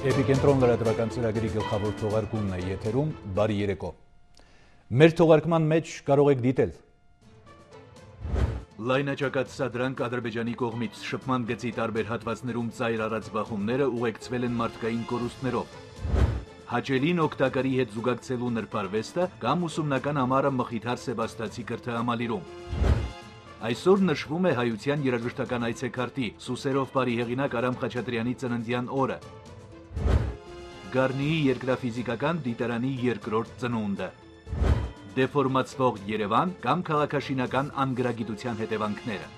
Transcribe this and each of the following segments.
Էպիկենտրոն լրատվական ծրագրի գլխավոր թողարկումն է եթերում, բարի երեկո։ Մեր թողարկման մեջ կարող եք դիտել լայնաճակատ սադրանք Ադրբեջանի կողմից շփման գծի տարբեր հատվածներում ծայր առած բախումները ուղեկցվել են մարդկային կորուստներով, հաճելին օգտակարի հետ զուգակցելու նրբարվեստը կամ ուսումնական ամառը Մխիթար Սեբաստացի կրթահամալիրում։ Այսօր նշվում է հայության երաժշտական այցեքարտի Սուսերով բարի հեղինակ Արամ Խաչատրյանի ծննդյան օրը։ Գառնիի երկրաֆիզիկական դիտարանի երկրորդ ծնունդը։ Դեֆորմացվող Երևան կամ քաղաքաշինական անգրագիտության հետևանքները։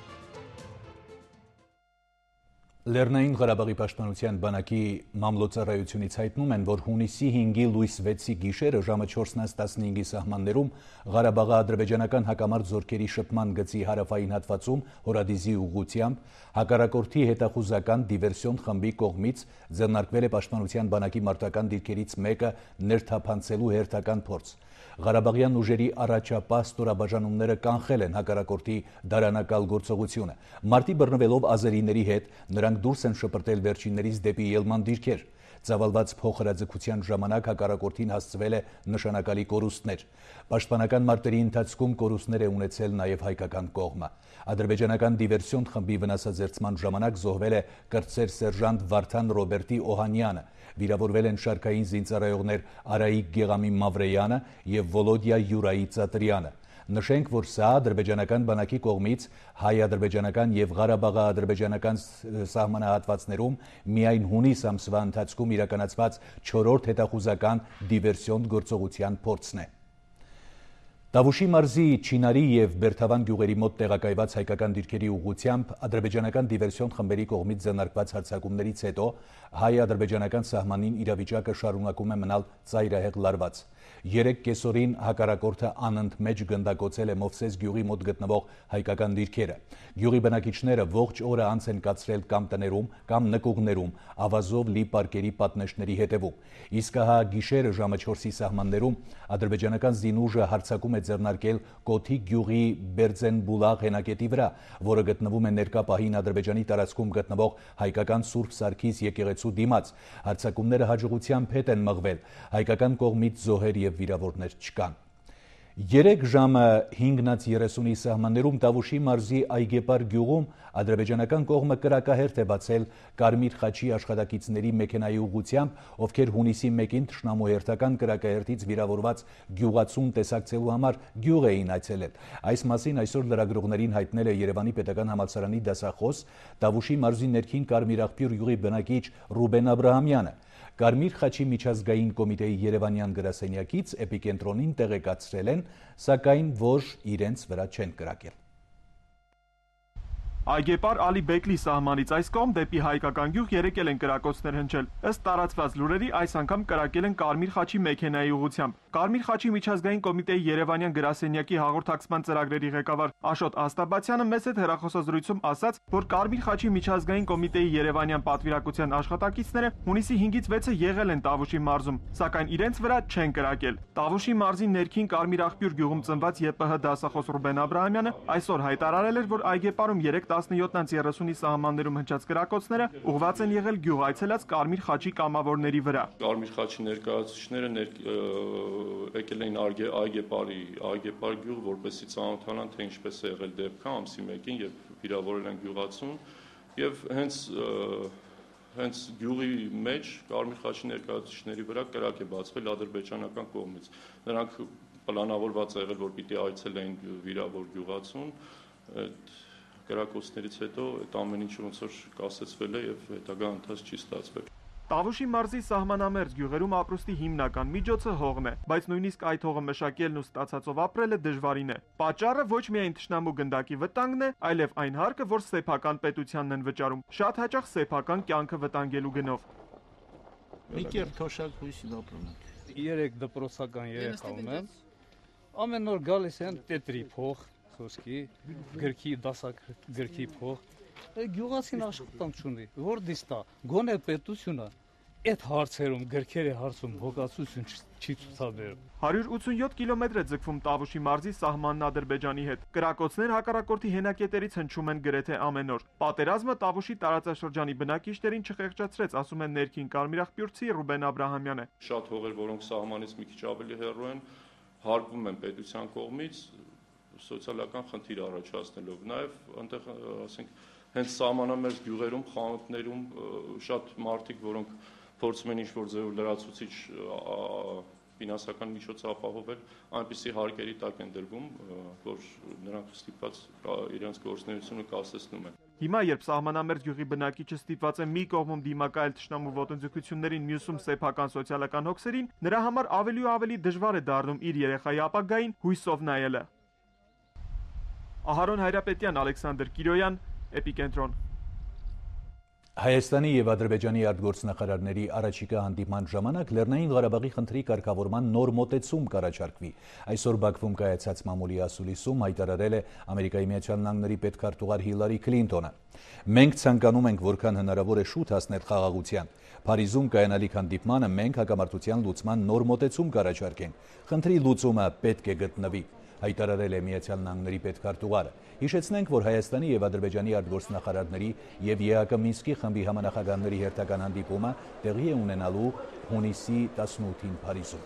Լեռնային Ղարաբաղի պաշտպանության բանակի մամլոյցարայությունից հայտնում են, որ հունիսի 5-ի լույս 6-ի գիշերը ժամը 4:15-ի սահմաններում Ղարաբաղի ադրբեջանական հակամարտ զորքերի շփման գծի հարավային հատվածում հորադիզի ուղղությամբ հակառակորդի հետախուզական դիվերսիոն խմբի կողմից ձեռնարկվել է պաշտպանության բանակի մարտական դիրքերից մեկը ներթափանցելու հերթական փորձ։ Ղարաբաղյան ուժերի առաջապահ ստորաբաժանումները կանխել են հակառակորդի դարանակալ գործողությունը։ Մարտի բռնվելով ազերիների հետ նրանք դուրս են շպրտել վերջիններից դեպի ելման դիրքեր։ Ծավալված փոխհրաձգության ժամանակ հակառակորդին հասցվել է նշանակալի կորուստներ։ Պաշտպանական մարտերի ընթացքում կորուստներ է ունեցել նաև հայկական կողմը։ Ադրբեջանական դիվերսիոն խմբի վնասազերծման ժամանակ զոհվել է կրտսեր սերժանտ Վարդան Ռոբերտի Օհանյանը։ Վիրավորվել են շարքային զինծառայողներ Արայիկ Գեղամի Մավրեյանը և Վոլոդիա Յուրայի Ծատրյանը։ Նշենք, որ սա ադրբեջանական բանակի կողմից հայ-ադրբեջանական և Ղարաբաղի-ադրբեջանական սահմանահատվածներում միայն հունիս ամսվա ընթացքում իրականացված 4-րդ հետախուզական դիվերսիոն գործողության փորձն է։ Տավուշի մարզի Չինարի և Բերթավան գյուղերի մոտ տեղակայված հայկական դիրքերի ուղղությամբ ադրբեջանական դիվերսիոն խմբերի կողմից ձեռնարկված հարձակումներից հետո հայ-ադրբեջանական սահմանին իրավիճակը շարունակում է մնալ ծայրահեղ լարված։ 3 կեսօրին հակառակորդը անընդմեջ գնդակոծել է Մովսես գյուղի մոտ գտնվող հայկական դիրքերը։ Գյուղի բնակիչները ողջ օրը անց են կացրել կամ տներում, կամ նկուղներում, ավազով լի պարկերի պատնեշների հետևում։ Իսկ ահա գիշերը ժամը 4-ի սահմաններում ադրբեջանական զինուժը հարձակում է ձեռնարկել Կոթի գյուղի Բերձենբուլաղ հենակետի վրա, որը գտնվում է ներկա պահին Ադրբեջանի տարածքում գտնվող հայկական Սուրբ Սարգիս եկեղեցու դիմաց։ Հարձակումները հաջողությամբ հետ են մղվել, հայկական կողմից զոհեր և վիրավորներ չկան։ 3 ժամը 5:30-ի սահմաններում Տավուշի մարզի Այգեպար գյուղում ադրբեջանական կողմը կրակահերթ է բացել Կարմիր խաչի աշխատակիցների մեքենայի ուղղությամբ, ովքեր հունիսի 1-ին թշնամու հերթական կրակահերթից վիրավորված գյուղացուն տեսակցելու համար գյուղ էին այցելել։ Այս մասին այսօր լրագրողներին հայտնել է Երևանի պետական համալսարանի դասախոս Տավուշի մարզի ներքին Կարմիր աղբյուր գյուղի բնակիչ Ռուբեն Աբրահամյանը։ Կարմիր խաչի միջազգային կոմիտեի երևանյան գրասենյակից էպիկենտրոնին տեղեկացրել են, սակայն որ իրենց վրա չեն կրակել։ Այգեպար Ալի Բեկլի սահմանից այս կողմ դեպի հայկական գյուղ եկել են կրակոցներ հնչել։ Ըստ տարածված լուրերի այս անգամ կրակել են Կարմիր խաչի մեքենայի ուղղությամբ։ Կարմիր խաչի միջազգային կոմիտեի երևանյան գրասենյակի հաղորդակցման ծրագրերի ղեկավար Աշոտ Աստաբացյանը մեծ հետ հեռախոսազրույցում ասաց, որ Կարմիր խաչի միջազգային կոմիտեի երևանյան պատվիրակության աշխատակիցները հունիսի 5-ից 6-ը եղել են Տավուշի մարզում, սակայն իրենց վրա չեն կրակել։ Տավուշի մարզի ներքին Կարմիր աղբյուր գյուղում ծնված ԵՊՀ դասախոս Ռուբեն Աբրահամյանը այսօր հայտարարել էր, որ Այգեպարում 3:17-30-ի սահմաններում հնչած կրակոցները ուղղված են եղել գյուղ այցելած Կարմիր խաչի կամավորների վրա։ Կարմիր խաչի ներկայացուցիչները եկել էին Այգեպար գյուղ, որպեսզի ծանոթանան, թե ինչպես է եղել դեպքը ամսի 1-ին, երբ վիրավորել են գյուղացուն, եւ հենց գյուղի մեջ Կարմիր խաչի ներկայացուցիչների վրա կրակ է բացվել ադրբեջանական կողմից։ Նրանք պլանավորված է եղել, որ պիտի այցելեին վիրավոր գյուղացուն, կրակոցներից հետո այդ ամեն ինչ ոնց որ կասեցվել է եւ հետագա ընթաց չի ստացվել։ Տավուշի մարզի սահմանամերձ գյուղերում ապրուստի հիմնական միջոցը հողն է, բայց նույնիսկ այդ հողը մշակելն ու ստացածով ապրելը դժվարին է։ Պատճառը ոչ միայն թշնամու գնդակի վտանգն է, այլև այն հարկը, որ սեփական պետությանն են վճարում, շատ հաճախ սեփական կյանքը վտանգելու գնով։ Մի կերպ թոշակ հույսին ապրում ենք։ 3 դպրոցական երեխա ունեմ։ Ամեն օր գալիս են տետրի փող, խոսքի, գրքի դասակ գրքի փող։ Գյուղացին աշխատանք չունի, որ դիստա, գոնե պետությունը այդ հարցերում գրքերի հարցում հոգացություն չի ցուցաբերում։ 187 կիլոմետր է ձգվում Տավուշի մարզի սահմանն Ադրբեջանի հետ։ Կրակոցներ հակառակորդի հենակետերից հնչում են գրեթե ամեն օր։ Պատերազմը Տավուշի տարածաշրջանի բնակիչներին չխեղճացրեց, ասում է ներքին կարմիրախպյուրցի Ռուբեն Աբրահամյանը։ Շատ հողեր, որոնք սահմանից մի քիչ ավելի հեռու են, հարկվում են պետության կողմից սոցիալական խնդիր առաջացնելով։ Նաև այնտեղ, ասենք, հենց սահմանամերձ գյուղերում, խանութներում շատ մարդիկ, որոնք փորձում են ինչ-որ ձևով լրացուցիչ ֆինանսական միջոց ապահովել, այնպիսի հարկերի տակ են դրվում, որ նրանք ստիպված իրենց գործունեությունը կասեցնում են։ Հիմա, երբ սահմանամերձ գյուղի բնակիչը ստիպված է մի կողմում դիմակայել թշնամու ոտնձգություններին, մյուսում սեփական սոցիալական հոգսերին, նրա համար ավելի ու ավելի դժվար է դառնում իր երեխայի ապագային հույսով նայելը։ Ահարոն Հայրապետյան, Ալեքսանդր Կիրոյան, Էպիկենտրոն։ Հայաստանի եւ Ադրբեջանի արտգործնախարարների առաջիկա հանդիպման ժամանակ Լեռնային Ղարաբաղի խնդրի կարգավորման նոր մոտեցում կառաջարկվի։ Այսօր Բաքվում կայացած մամուլի ասուլիսում հայտարարել է Ամերիկայի Միացյալ Նահանգների պետքարտուղար Հիլարի Քլինտոնը։ Մենք ցանկանում ենք որքան հնարավոր է շուտ հասնել խաղաղության։ Փարիզում կայանալիք հանդիպմանը մենք հակամարտության լուծման նոր մոտեցում կառաջարկենք։ Խնդրի լուծումը պետք է գտնվի, հայտարարել է Միացյալ Նահանգների պետքարտուղարը։ Հիշեցնենք, որ Հայաստանի եւ Ադրբեջանի արտգործնախարարների եւ ԵԱԿ Մինսկի խմբի համանախագահների հերթական հանդիպումը տեղի է ունենալու հունիսի 18-ին Փարիզում։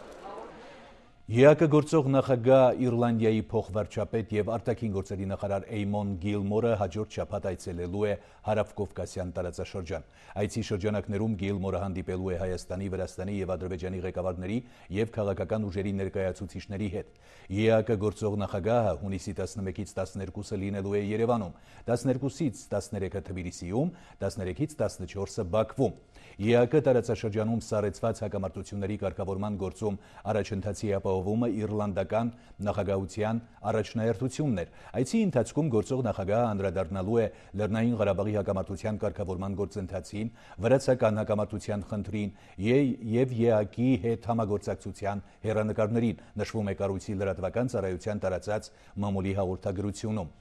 ԵԱԿ գործող նախագահ Իռլանդիայի փոխվարչապետ եւ արտաքին գործերի նախարար Էյմոն Գիլմորը հաջորդ շաբաթ այցելելու է հարավկովկասյան տարածաշրջան։ Այցի շրջանակներում Գիլմորը հանդիպելու է Հայաստանի, Վրաստանի եւ Ադրբեջանի ղեկավարների եւ քաղաքական ուժերի ներկայացուցիչների հետ։ ԵԱԿ գործող նախագահը հունիսի 11-ից 12-ը լինելու է Երևանում, 12-ից 13-ը Թբիլիսիում, 13-ից 14-ը Բաքվում։ ԵԱԿ տարածաշրջանում սառեցված հակամարտությունների կարգավորման գործում առաջընթացի ապահովումը իռլանդական նախագահության առաջնահերթությունն էր։ Այցի ընթացքում գործող նախագահը անդրադառնալու է Լեռնային Ղարաբաղի հակամարտության կարգավորման գործընթացին, վրացական հակամարտության խնդրին եւ ԵԱԿ-ի հետ համագործակցության հեռանկարներին, նշվում է կառույցի լրատվական ծառայության տարածած մամուլի հաղորդագրությունում։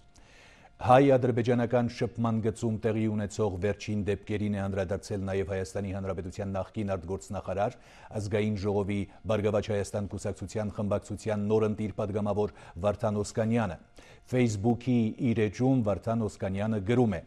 Հայ-ադրբեջանական շփման գծում տեղի ունեցող վերջին դեպքերին է անդրադարձել նաև Հայաստանի Հանրապետության նախկին արտգործնախարար, ազգային ժողովի Բարգավաճ Հայաստան կուսակցության խմբակցության նորընտիր падգամավոր Վարդան Օսկանյանը։ Facebook-ի իր էջում Վարդան Օսկանյանը գրում է.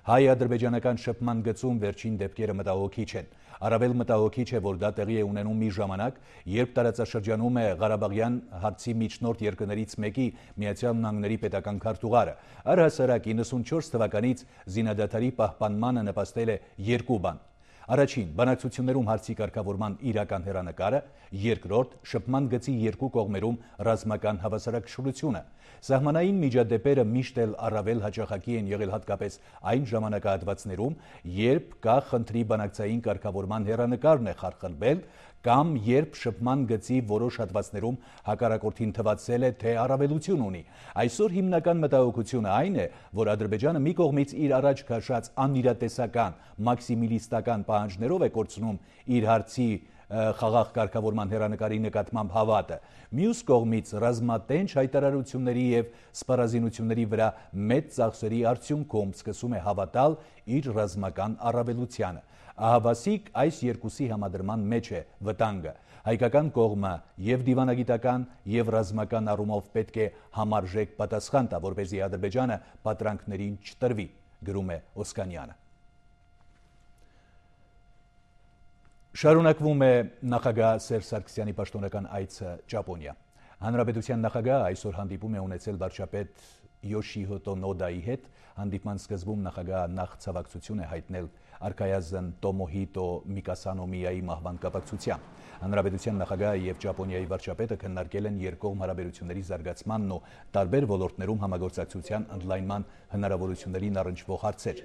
Հայ-ադրբեջանական շփման գծում վերջին դեպքերը մտահոգիչ են։ Առավել մտահոգիչ է, որ դա տեղի է ունենում մի ժամանակ, երբ տարածաշրջանում է Ղարաբաղյան հարցի միջնորդ երկրներից մեկի Միացյալ Նահանգների պետական քարտուղարը։ Առհասարակ 94 թվականից զինադադարի պահպանմանը նպաստել է երկու բան։ Առաջին, բանակցություններում հարցի կարգավորման իրական հեռանկարը, երկրորդ, շփման գծի երկու կողմերում ռազմական հավասարակշռությունը։ Սահմանային միջադեպերը միշտ էլ առավել հաճախակի են եղել հատկապես այն ժամանակահատվածներում, երբ կա խնդրի բանակցային կարգավորման հեռանկարն է խարխլվել, կամ երբ շփման գծի որոշ հատվածներում հակառակորդին թվացել է, թե առավելություն ունի։ Այսօր հիմնական մտահոգությունը այն է, որ Ադրբեջանը մի կողմից իր առաջ քաշած անիրատեսական, մաքսիմիլիստական պահանջներով է կորցնում իր հարցի խաղաղ կարգավորման հեռանկարի նկատմամբ հավատը, մյուս կողմից ռազմատենչ հայտարարությունների եւ սպառազինությունների վրա մեծ ծախսերի արդյունքում սկսում է հավատալ իր ռազմական առավելությանը։ Ահավասիկ այս երկուսի համադրման մեջ է վտանգը։ Հայկական կողմը եւ դիվանագիտական եւ ռազմական առումով պետք է համարժեք պատասխան տա, որպեսզի Ադրբեջանը պատրանքներին չտրվի, գրում է Օսկանյանը։ Շարունակվում է նախագահ Սերժ Սարգսյանի պաշտոնական այցը Ճապոնիա։ Հանրապետության նախագահը այսօր հանդիպում է ունեցել վարչապետ Յոշիհիտո Նոդայի հետ։ Հանդիպման սկզբում նախագահը նախ ցավակցություն է հայտնել արքայազն Տոմոհիտո Միկասանոմիայի մահվան կապակցությամբ։ Հանրապետության նախագահը եւ Ճապոնիայի վարչապետը քննարկել են երկկողմ հարաբերությունների զարգացմանն ու տարբեր ոլորտներում համագործակցության ընդլայնման հնարավորություններին առնչվող հարցեր։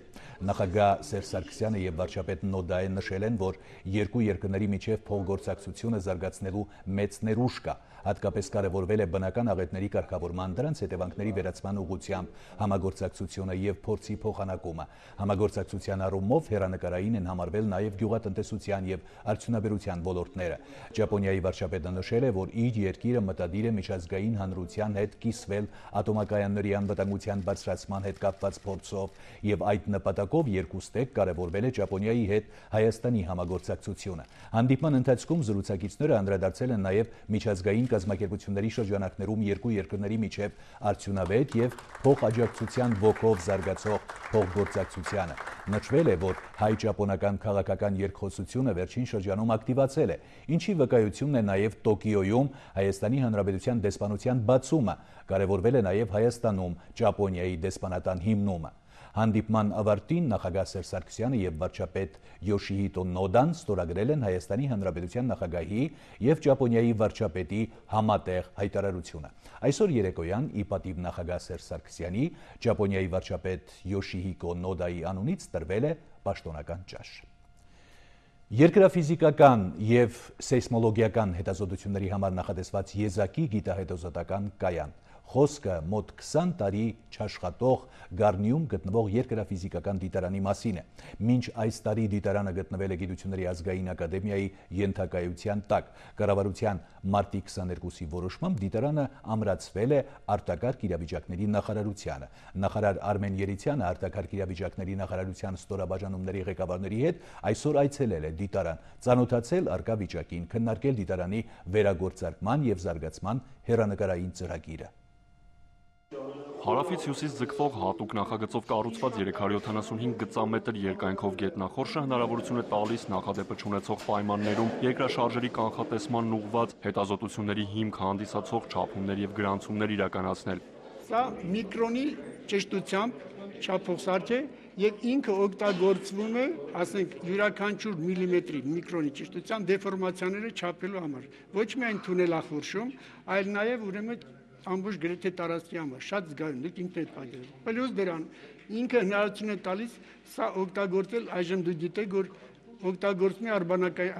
Նախագահ Սերժ Սարգսյանը եւ վարչապետ Նոդայը նշել են, որ երկու երկրների միջև փոխգործակցությունը զարգացնելու մեծ ներուժ կա։ Հատկապես կարևորվել է բնական աղետների կարգավորման, դրանց հետևանքների վերացման ուղղությամբ համագործակցությունը եւ փորձի փոխանակումը։ Համագործակցության առումով հեռանկարային են համարվել նաև գյուղատնտեսության եւ արդյունաբերության ոլորտները։ Ճապոնիայի վարչապետը նշել է, որ իր երկիրը մտադիր է միջազգային հանրության հետ կիսվել ատոմակայանների անվտանգության բարձրացման հետ կապված փորձով եւ այդ նպատակով երկուստեք կարևորվել է Ճապոնիայի հետ Հայաստանի համագործակցությունը։ Հանդիպման ընթացքում զրուցակիցները անդրադարձել են նաև միջազգային կազմակերպությունների շրջանակներում երկու երկրների միջև արդյունավետ եւ փոխաջակցության ոգով զարգացող փոխգործակցությանը։ Նշվել է, որ հայ-ճապոնական քաղաքական երկխոսությունը վերջին շրջանում ակտիվացել է, ինչի վկայությունն է նաև Տոկիոյում Հայաստանի Հանրապետության դեսպանության բացումը, կարևորվել է նաև Հայաստանում Ճապոնիայի դեսպանատան հիմնումը։ Հանդիպման ավարտին նախագահ Սերժ Սարգսյանը եւ վարչապետ Յոշիհիտո Նոդան ստորագրել են Հայաստանի Հանրապետության նախագահի եւ Ճապոնիայի վարչապետի համատեղ հայտարարությունը։ Այսօր երեկոյան ի պատիվ նախագահ Սերժ Սարգսյանի Ճապոնիայի վարչապետ Յոշիհիկո Նոդայի անունից տրվել է պաշտոնական ճաշ։ Երկրաֆիզիկական եւ սեյսմոլոգիական հետազոտությունների համար նախատեսված եզակի գիտահետազոտական կայան։ Խոսքը մոտ 20 տարի չաշխատող Գառնիում գտնվող երկրաֆիզիկական դիտարանի մասին է։ Մինչ այս տարի դիտարանը գտնվել է Գիտությունների ազգային ակադեմիայի ենթակայության տակ։ Կառավարության մարտի 22-ի որոշմամբ դիտարանը ամրացվել է արտակարգ իրավիճակների նախարարությանը։ Նախարար Արմեն Երիցյանը արտակարգ իրավիճակների նախարարության ստորաբաժանումների ղեկավարների հետ այսօր այցելել է դիտարան, ծանոթացել առկա վիճակին, քննարկել դիտարանի վերագործարկման եւ զարգացման հեռանկարային ծրագիրը։ Հարավից հյուսիս ձգվող հատուկ նախագծով կառուցված 375 գծամետր երկայնքով գետնախորշը հնարավորություն է տալիս նախադեպը չունեցող պայմաններում երկրաշարժերի կանխատեսման ուղղված հետազոտությունների հիմք հանդիսացող չափումներ եւ գրանցումներ իրականացնել։ Սա միկրոնի ճշտությամբ չափող սարք է եւ ինքը օգտագործվում է, ասենք, յուրաքանչյուր միլիմետրի միկրոնի ճշտության դեֆորմացիաները չափելու համար։ Ոչ միայն թունելախորշում, այլ նաեւ ուրեմն ամբողջ գրեթե տարածքի համար շատ զգայուն դուք ինքն եք պատկերացնում։ Պլյուս դրան ինքը հնարավորություն է տալիս սա օգտագործել, այժմ դուք գիտեք, որ օգտագործվում է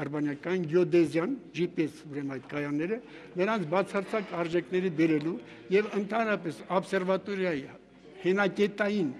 արբանյակային գեոդեզիան, GPS ուրեմն այդ կայանները, նրանց բացարձակ արժեքների բերելու եւ ընդհանրապես օբսերվատորիայի հենակետային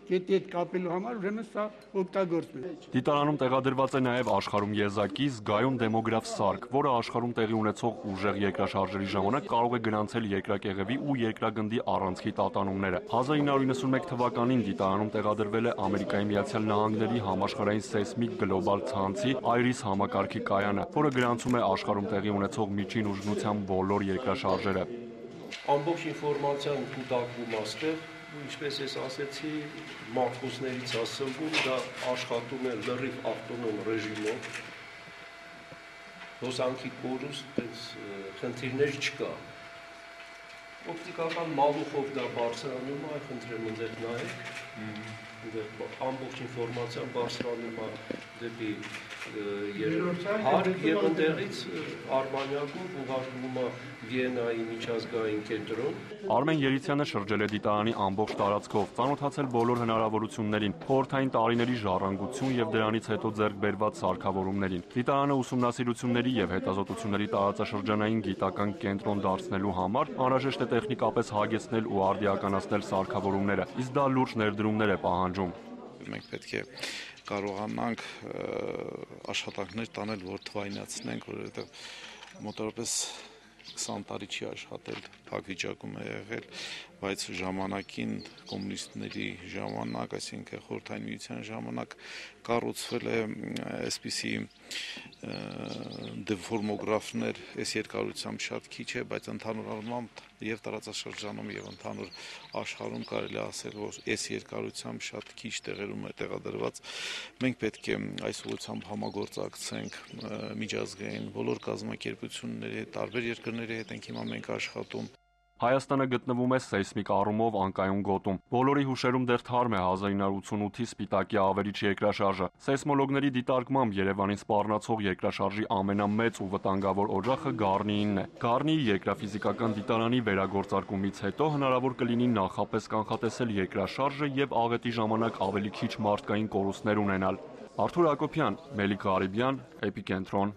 կետի հետ կապելու համար ուրեմն սա օգտագործվում է։ Դիտարանում տեղադրված է նաև աշխարհում եզակի զգայուն դեմոգրաֆ սարք, որը աշխարհում տեղի ունեցող ուժեղ երկրաշարժերի ժամանակ կարող է գրանցել երկրակեղևի ու երկրագնդի առանցքի տատանումները։ 1991 թվականին դիտարանում տեղադրվել է Ամերիկայի Միացյալ Նահանգների համաշխարհային սեյսմիկ գլոբալ ցանցի IRIS համակարգի կայանը, որը գրանցում է աշխարհում տեղի ունեցող միջին ուժգնության բոլոր երկրաշարժերը։ Ամբողջ ինֆորմացիան կուտակվում աստեղ, ինչպես ես ասեցի, մաքրոսներից ասվում, դա աշխատում է լրիվ ավտոնոմ ռեժիմով, հոսանքի կորուստ, խնդիրներ չկա։ Օպտիկական մալուխով դա բարձրանում է, խնդրեմ ընդեղ նայեք, ամբողջ ինֆորմացիան բարձրանում է դեպի հարկ եւ ընդեղից Արբանյակով ուղարկվում է Վիեննայի միջազգային կենտրոն։ Արմեն Երիցյանը շրջել է դիտարանի ամբողջ տարածքով, ծանոթացել բոլոր հնարավորություններին, խորհրդային տարիների ժառանգություն եւ դրանից հետո ձեռք բերված սարքավորումներին։ Դիտարանը ուսումնասիրությունների եւ հետազոտությունների տարածաշրջանային գիտական կենտրոն դարձնելու համար անհրաժեշտ է տեխնիկապես հագեցնել ու արդիականացնել սարքավորումները, իսկ դա լուրջ ներդրումներ է պահանջում։ Մենք պետք է կարողանանք աշխատանքներ տանել, որ թվայնացնենք, որովհետև մոտավորապես 20 տարի չի աշխատել, փակ վիճակում է եղել, բայց ժամանակին կոմունիստների ժամանակ, այսինքն խորհրդային միության ժամանակ կառուցվել է այսպիսի դեֆորմոգրաֆներ, այս երկարությամբ շատ քիչ է, բայց ընդհանուր առմամբ եւ տարածաշրջանում եւ ընդհանուր աշխարհում կարելի ասել, որ այս երկարությամբ շատ քիչ տեղերում է տեղադրված։ Մենք պետք է այս ուղղությամբ համագործակցենք միջազգային բոլոր կազմակերպությունների հետ, տարբեր երկրների հետ ենք հիմա մենք աշխատում։ Հայաստանը գտնվում է սեյսմիկ առումով անկայուն գոտում։ Բոլորի հուշերում դեռ թարմ է 1988-ի Սպիտակի ավերիչ երկրաշարժը։ Սեյսմոլոգների դիտարկմամբ Երևանին սպառնացող երկրաշարժի ամենամեծ ու վտանգավոր օջախը Գառնիինն է։ Գառնիի երկրաֆիզիկական դիտարանի վերագործարկումից հետո հնարավոր կլինի նախապես կանխատեսել երկրաշարժը եւ աղետի ժամանակ ավելի քիչ մարդկային կորուստներ ունենալ։ Արթուր Հակոբյան, Մելիք Ղարիբյան, Էպիկենտրոն։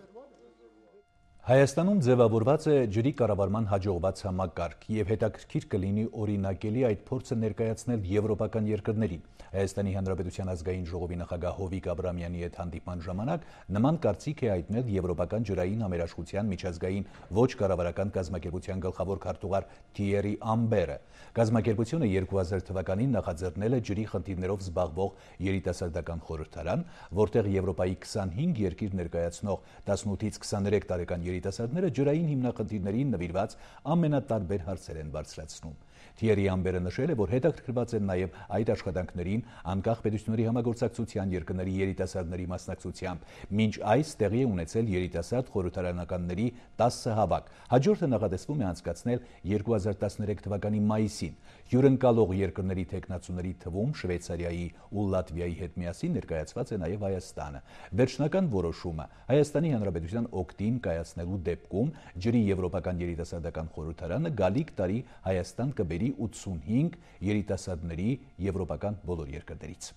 Հայաստանում ձևավորված է ջրի կառավարման հաջողված համակարգ եւ հետաքրքիր կլինի օրինակելի այդ փորձը ներկայացնել եվրոպական երկրներին։ Հայաստանի Հանրապետության ազգային ժողովի նախագահ Հովիկ Աբրամյանի հետ հանդիպման ժամանակ նման կարծիք է հայտնել Եվրոպական ջրային համերաշխության միջազգային ոչ կառավարական կազմակերպության գլխավոր քարտուղար Թիերի Ամբերը։ Կազմակերպությունը 2000 թվականին նախաձեռնել է ջրի խնդիրներով զբաղվող երիտասարդական խորհրդարան, որտեղ Եվրոպայի 25 երկիր ներկայացնող 18-ից 23 տարեկան երիտասարդները ջրային հիմնախնդիրներին նվիրված ամենատարբեր հարցեր են բարձրացնում։ Թիերի Ամբերը նշել է, որ հետաքրքրված են նաև այդ աշխատանքներին անկախ պետությունների համագործակցության երկրների երիտասարդների մասնակցությամբ։ Մինչ այս տեղի է ունեցել երիտասարդ խորհրդարանականների 10 հավաք։ Հաջորդը նախատեսվում է անցկացնել 2013 թվականի մայիսին։ Հյուրընկալող երկրների թեկնածուների թվում Շվեյցարիայի ու Լատվիայի հետ միասին ներկայացված է նաև Հայաստանը։ Վերջնական որոշումը Հայաստանի Հանրապետության օգտին կայացնելու դեպքում ջրի եվրոպական երիտասարդական խորհրդարանը գալիք տարի Հայաստան կբերի 85 երիտասարդների եվրոպական բոլոր երկրներից։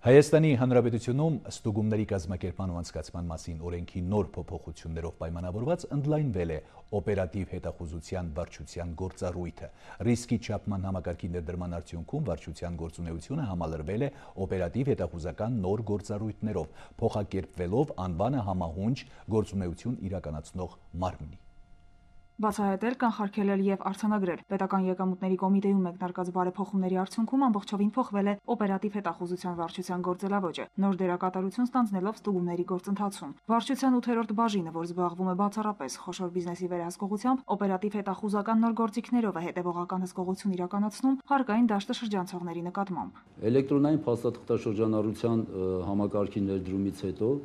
Հայաստանի Հանրապետությունում ստուգումների կազմակերպման ու անցկացման մասին օրենքի նոր փոփոխություններով պայմանավորված ընդլայնվել է օպերատիվ հետախուզության վարչության գործառույթը։ Ռիսկի չափման համակարգի ներդրման արդյունքում վարչության գործունեությունը համալրվել է օպերատիվ հետախուզական նոր գործառույթներով, փոխակերպվելով անվանը համահունչ գործունեություն իրականացնող մարմնի։ Բացահայտել, կանխարգելել եւ արձանագրել պետական եկամուտների կոմիտեում մեկնարկած բարեփոխումների արդյունքում ամբողջովին փոխվել է օպերատիվ հետախուզության վարչության գործելավոճը, նոր դերակատարություն ստանձնելով ստուգումների գործընթացում։ Վարչության 8-րդ բաժինը, որ զբաղվում է բացառապես խոշոր բիզնեսի վերահսկողությամբ, օպերատիվ հետախուզական նոր գործիքներով է հետևողական հսկողություն իրականացնում հարկային դաշտը շրջանցողների նկատմամբ։ Էլեկտրոնային փաստաթղթաշրջանառության համակարգի ներդրումից հետո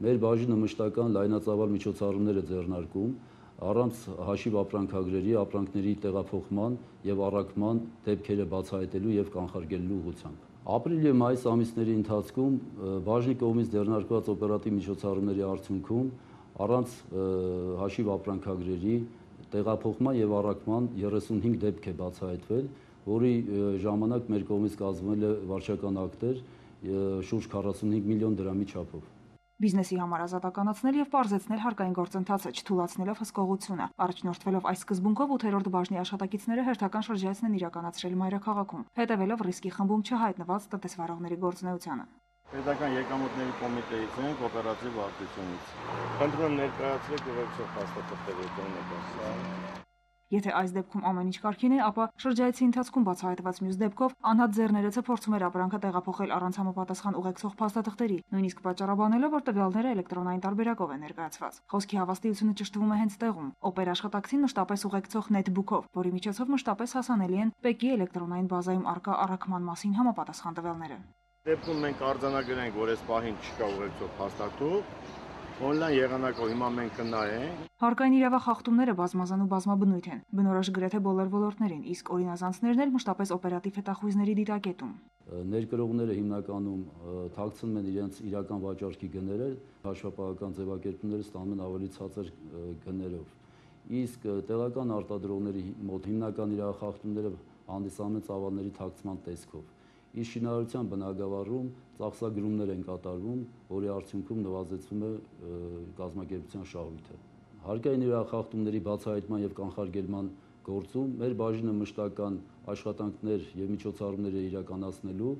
մեր բաժինը մշտական լայնածավալ միջոցառումներ է ձեռնարկում առանց հաշիվ ապրանքագրերի, ապրանքների տեղափոխման եւ առաքման դեպքերը բացահայտելու եւ կանխարգելելու ուղղությամբ։ Ապրիլ եւ մայիս ամիսների ընթացքում բաժնի կողմից ձեռնարկված օպերատիվ միջոցառումների արդյունքում առանց հաշիվ ապրանքագրերի տեղափոխման եւ առաքման 35 դեպք է բացահայտվել, որի ժամանակ մեր կողմից կազմվել է վարչական ակտեր շուրջ 45 միլիոն դրամի չափով։ Բիզնեսի համար ազատականացնել եւ պարզեցնել հարկային գործընթացը, չթույլատնելով հսկողությունը։ Առաջնորդվելով այս սկզբունքով 8-րդ բաժնի աշխատակիցները հերթական շրջայցն են իրականացրել մայրաքաղաքում, հետևելով ռիսկի խմբում չհայտնված տնտեսվարողների գործունեությանը։ Պետական եկամուտների կոմիտեից ենք օպերատիվ վարչությունից։ Խնդրում եմ ներկայացրեք ուղեկցող փաստաթղթերի դոնեկան։ Եթե այս դեպքում ամեն ինչ կարգին է, ապա շրջայցի ընթացքում բացահայտված մյուս դեպքով անհատ ձեռներեցը փորձում էր ապրանքը տեղափոխել առանց համապատասխան ուղեկցող փաստաթղթերի, նույնիսկ պատճառաբանելով, որ տվյալները էլեկտրոնային տարբերակով են ներկայացված։ Խոսքի հավաստիությունը ճշտվում է հենց տեղում։ Օպեր աշխատակցին մշտապես ուղեկցող նեթբուքով, որի միջոցով մշտապես հասանելի են ՊԵԿ-ի էլեկտրոնային բազայում առկա առաքման մասին համապատասխան տվյալները։ Դեպքում մենք արձանագրենք, որ այս պահին չկա ուղեկցող փաստաթուղթ, Օնլայն եղանակով հիմա մենք կնայենք։ Հարկային իրավախախտումները բազմազան ու բազմաբնույթ են, բնորոշ գրեթե բոլոր ոլորտներին, իսկ օրինազանցներն էլ մշտապես օպերատիվ հետախույզների դիտակետում։ Ներկրողները հիմնականում թաքցնում են իրենց իրական վաճառքի գները, հաշվապահական ձևակերպումները ստանում են ավելի ցածր գներով։ Իսկ տեղական արտադրողների մոտ հիմնական իրավախախտումները հանդիսանում են ծավալների թաքցման տեսքով։ Իսկ շինարարության բնագավառում ծախսագրումներ են կատարվում, որի արդյունքում նվազեցվում է կազմակերպության շահույթը։ Հարկային իրավախախտումների բացահայտման եւ կանխարգելման գործում մեր բաժինը մշտական աշխատանքներ եւ միջոցառումներ է իրականացնելու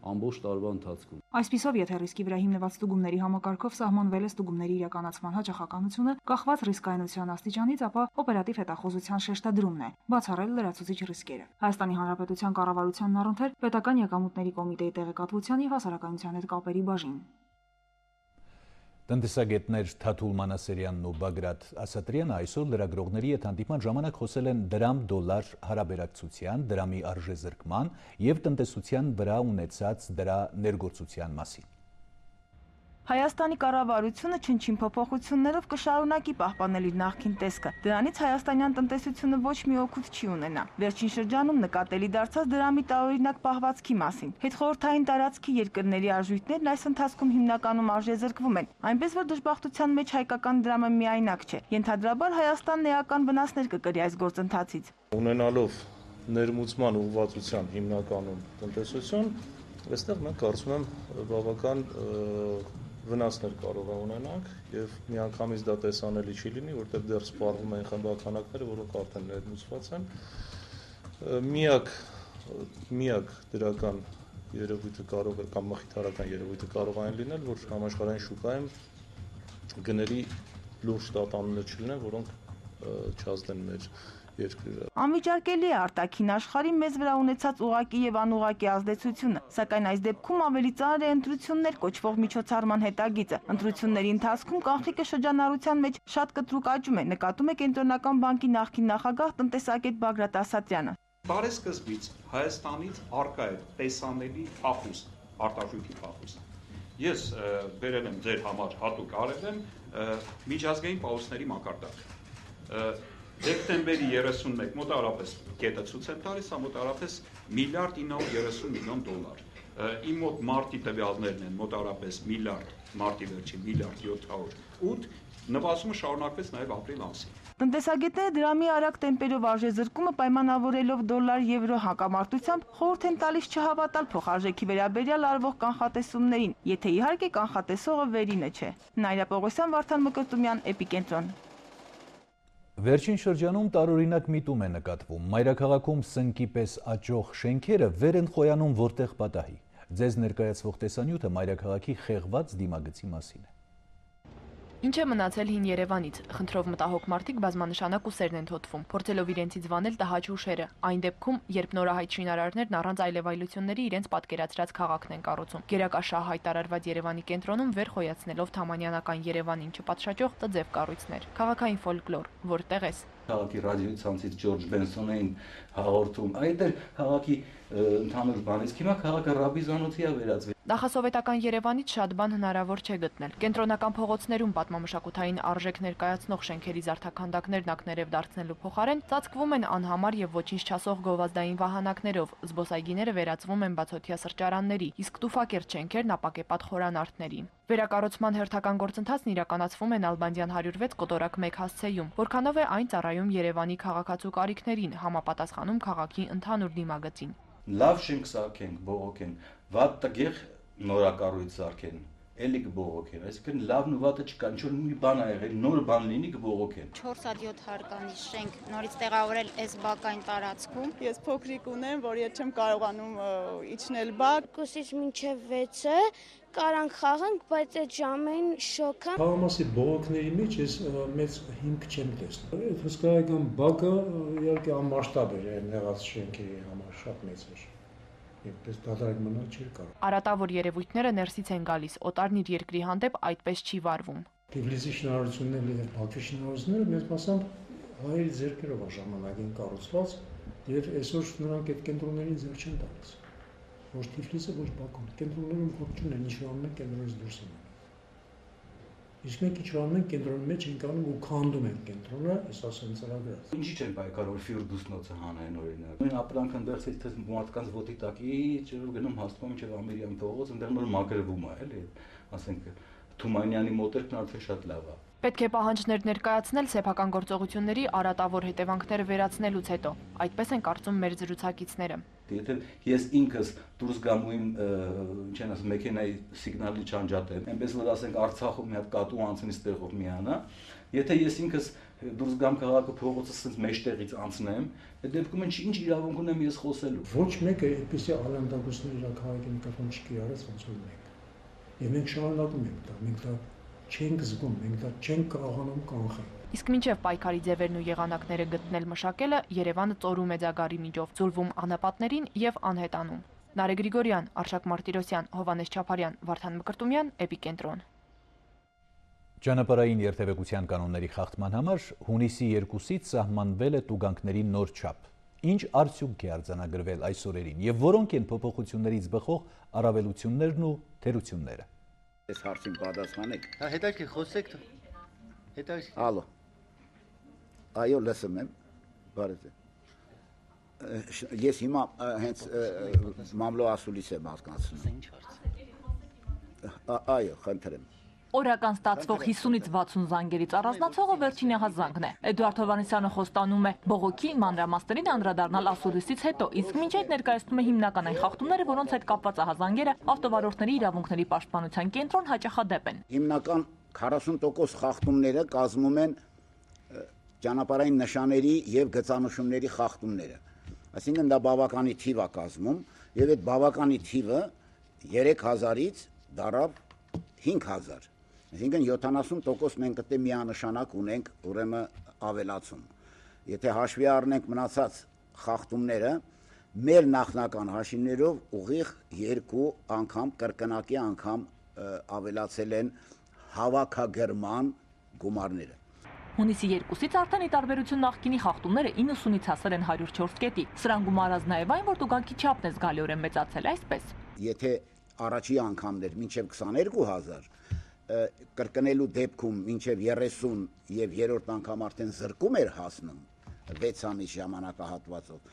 ամբողջ տարվա ընթացքում։ Այսպիսով, եթե ռիսկի վրա հիմնված ստուգումների համակարգով սահմանվել է ստուգումների իրականացման հաճախականությունը, կախված ռիսկայնության աստիճանից, ապա օպերատիվ հետախուզության շեշտադրումն է, բացառել լրացուցիչ ռիսկերը։ Հայաստանի Հանրապետության կառավարությանն առընթեր պետական եկամուտների կոմիտեի տեղեկատվության եւ հասարակայնության հետ կապերի բաժին։ Տնտեսագետներ Թաթուլ Մանասերյանն ու Բագրատ Ասատրյանը այսօր լրագրողների հետ հանդիպման ժամանակ խոսել են դրամ-դոլար հարաբերակցության, դրամի արժեզրկման եւ տնտեսության վրա ունեցած դրա ներգործության մասին։ Հայաստանի կառավարությունը չնչին փոփոխություններով կշարունակի պահպանել իր նախկին տեսքը։ Դրանից հայաստանյան տնտեսությունը ոչ մի օգուտ չի ունենա։ Վերջին շրջանում նկատելի դարձած դրամի տարօրինակ պահվածքի մասին։ Հետխորհրդային տարածքի երկրների արժույթներն այս ընթացքում հիմնականում արժեզրկվում են, այնպես որ դժբախտության մեջ հայկական դրամը միայնակ չէ։ Ենթադրաբար Հայաստանն էական վնասներ կկրի այս գործընթացից։ Ունենալով ներմուծման ուղղվածության հիմնականում տնտեսություն, այստեղ մենք կարծում եմ բավական վնասներ կարող է ունենանք եւ միանգամից դա տեսանելի չի լինի, որտեղ դեռ սպառվում են խմբականակները, որոնք արդեն ներմուծված են։ Միակ դրական երևույթը կարող է կամ մխիթարական երևույթը կարող է լինել, որ համաշխարհային շուկայում գների լուրջ տատանումներ չլինեն, որոնք չազդեն մեր երկրի։ Անվիճարկելի է արտաքին աշխարհի մեզ վրա ունեցած ուղղակի եւ անուղղակի ազդեցությունը, սակայն այս դեպքում ավելի ծանր է ընտրություններ կոչվող միջոցառման հետագիծը։ Ընտրությունների ընթացքում կանխիկը շրջանառության մեջ շատ կտրուկ աճում է, նկատում է Կենտրոնական բանկի նախկին նախագահ տնտեսագետ Բագրատ Ասատրյանը։ Բարեսկզբից Հայաստանից արկա է տեսանելի փախուստ, արտարժույթի փախուստ։ Ես բերել եմ ձեր համար հատուկ արել եմ միջազգային պաուսների մակարդակ։ Դեկտեմբերի 31 մոտավորապես կետը ցույց եմ տալիս, մոտավորապես միլիարդ 930 միլիոն դոլար։ Իմ մոտ մարտի տվյալներն են մոտավորապես մարտի վերջին միլիարդ 708, նվազումը շարունակվեց նաև ապրիլ ամսին։ Տնտեսագետները դրամի արագ տեմպերով արժեզրկումը պայմանավորելով դոլար-եվրո հակամարտությամբ խորհուրդ են տալիս չհավատալ փոխարժեքի վերաբերյալ արվող կանխատեսումներին, եթե իհարկե կանխատեսողը վերինը չէ։ Նայրա Պողոսյան, Վարդան Մկրտումյան, Էպիկենտրոն։ Վերջին շրջանում տարօրինակ միտում է նկատվում։ Մայրաքաղաքում սնկի պես աճող շենքերը վեր են խոյանում որտեղ պատահի։ Ձեզ ներկայացվող տեսանյութը Մայրաքաղաքի խեղված դիմագծի մասին է։ Ինչ է մնացել հին Երևանից, խնդրով մտահոգ մարդիկ բազմանշանակ ուսերն են թոթվում, փորձելով իրենցից վանել տհաճ հուշերը, այն դեպքում, երբ նորահայտ շինարարներն առանց այլևայլությունների իրենց պատկերացրած քաղաքն են կառուցում։ Գերակաշահ հայտարարված Երևանի կենտրոնում վեր խոյացնելով թամանյանական Երևանին չպատշաճող տձև կառույցներ, քաղաքային ֆոլկլոր, որտեղ ես։ Քաղաքի ռադիոյցանցից Ջորջ Բենսոնին հաղորդում, այդ էլ քաղաքի ընդհանուր բանից, հիմա քաղաքը ռաբիզանոցի է վերածվել։ Նախասովետական Երևանից շատ բան հնարավոր չէ գտնել։ Կենտրոնական փողոցներում պատմամշակութային արժեք ներկայացնող շենքերի զարդաքանդակներն ակներև դարձնելու փոխարեն ծածկվում են անհամար եւ ոչինչ չասող գովազդային վահանակներով, զբոսայգիները վերածվում են բացօթյա սրճարանների, իսկ տուֆակերտ շենքերն ապակեպատ խորանարդների։ Վերակառուցման հերթական գործընթացն իրականացվում է Նալբանդյան 106 կոտորակ 1 հասցեում, որքանով է այն ծառայում Երևանի քաղաքացու կարիքներին, համապատասխանում քաղաքի ընդհանուր դիմագծին։ Լավ շենք սարքենք, բողոքեն, վատ տգեղ նորակառույց սարքեն, էլի կբողոքեն, այսինքն լավն ու վատը չկա, ինչ որ մի բան ա եղել, նոր բան լինի կբողոքեն։ 4-7 հարկանի շենք նորից տեղավորել այս բակային տարածքում։ Ես փոքրիկ ունեմ, որ ես չեմ կարողանում իջնել բակ։ Կուսից մինչև 6-ը կարանք խաղանք, բայց այդ ժամին շոկը։ Թաղամասի բողոքների մեջ ես մեծ հիմք չեմ տեսնում։ Այդ հսկայական բակը իհարկե անմասշտաբ էր այն եղած շենքի համար, շատ մեծ էր։ Այդպես դատարկ մնալ չէր կարող։ Արատավոր երևույթները ներսից են գալիս, օտարն իր երկրի հանդեպ այդպես չի վարվում։ Թիֆլիսի շինարարություններն եւ Բաքվի շինարարությունները մեծ մասամբ հայերի ձեռքերով է ժամանակին կառուցված, եւ այսօր նրանք այդ կենտրոններին ձեռք չեն տալիս։ Ոչ Թիֆլիսը, ոչ Բաքուն։ Կենտրոններում գործ չունեն, ինչ որ ամեն կենտրոնից դուրս են։ Իսկ մենք ինչ որ ամեն կենտրոնի մեջ ենք անում ու քանդում ենք կենտրոնը, այս ասեմ ծրագրած։ Ինչի՞ չեն պայքարում Ֆիրդուսնոցը հանեն օրինակ։ Նույն ապրանք ընդերցից թե մարդկանց ոտի տակի ջրով գնում հաստվում մինչև Ամերիկյան փողոց, այնտեղ նոր մակրվում է, էլի, ասենք Թումանյանի մոտերքն արդեն շատ լավ է։ Պետք է պահանջներ ներկայացնել սեփական գործողությունների արատավոր հետևանքները վերացնելուց հետո։ Այդպես են կարծում մեր զրուցակիցները։ Եթե ես ինքս դուրս գամ ու իմ, ինչ են ասում, մեքենայի սիգնալի չանջատեմ, այնպես որ ասենք Արցախում մի հատ կատու անցնի ստեղով միանա, եթե ես ինքս դուրս գամ քաղաքը փողոցը ասենց մեջտեղից անցնեմ, այդ դեպքում ինչ իրավունք ունեմ ես խոսելու։ Ոչ մեկը այդպեսի ալանդագործներ իր քաղաքի նկատմամբ չի արած ոնց որ մենք։ Եվ մենք շարունակում ենք դա, մենք դա չենք զգում, մենք դա չենք կարողանում կանխել։ Իսկ մինչև պայքարի ձևերն ու եղանակները գտնել մշակելը Երևանը ծորում է ձագարի միջով, ձուլվում անապատներին եւ անհետանում։ Նարե Գրիգորյան, Արշակ Մարտիրոսյան, Հովանես Չապարյան, Վարդան Մկրտումյան, Էպիկենտրոն։ Ճանապարհային երթևեկության կանոնների խախտման համար հունիսի 2-ից սահմանվել է տուգանքների նոր չափ։ Ինչ արդյունք է արձանագրվել այս օրերին եւ որոնք են փոփոխություններից բխող առավելություններն ու թերությունները։ Այս հարցին պատասխանեք։ Հա, հետաքրքիր խոսեք։ Հետաքրքիր։ Ալո։ Այո, լսում եմ։ Բարև։ Ես հիմա հենց մամլո ասուլիս եմ հասկացնում։ Ինչ հարց։ Այո, խնդրեմ։ Օրական ստացվող 50-ից 60 զանգերից առանձնացողը վերջին եղազանգն է։ Էդուարդ Հովհաննիսյանը խոստանում է բողոքի մանրամասներին անդրադառնալ ասուլիսից հետո, իսկ մինչ այդ ներկայացնում է հիմնական այն խախտումները, որոնց հետ կապված ահազանգերը ավտովարորդների իրավունքների պաշտպանության կենտրոն հաճախադեպ են։ Հիմնական 40% խախտումները կազմում են ճանապարհային նշանների եւ գծանշումների խախտումները։ Այսինքն դա բավականի թիվ է կազմում եւ այդ բավականի թիվը 3000-ից դարավ 5000։ Այսինքն 70% մենք դե միանշանակ ունենք ուրեմն ավելացում։ Եթե հաշվի առնենք մնացած խախտումները, մեր նախնական հաշիվներով ուղիղ 2 անգամ կրկնակի անգամ ավելացել են հավաքագրման գումարները։ Հունիսի 2-ից արդեն ի տարբերություն նախկինի խախտումները 90-ից հասել են 104 կետի։ Սրան գումարած նաև այն, որ տուգանքի չափն է զգալիորեն մեծացել, այսպես։ Եթե առաջի անգամներ մինչև 22000, կրկնելու դեպքում մինչև 30 եւ երրորդ անգամ արդեն զրկում էր հասնում 6 ամիս ժամանակահատվածով,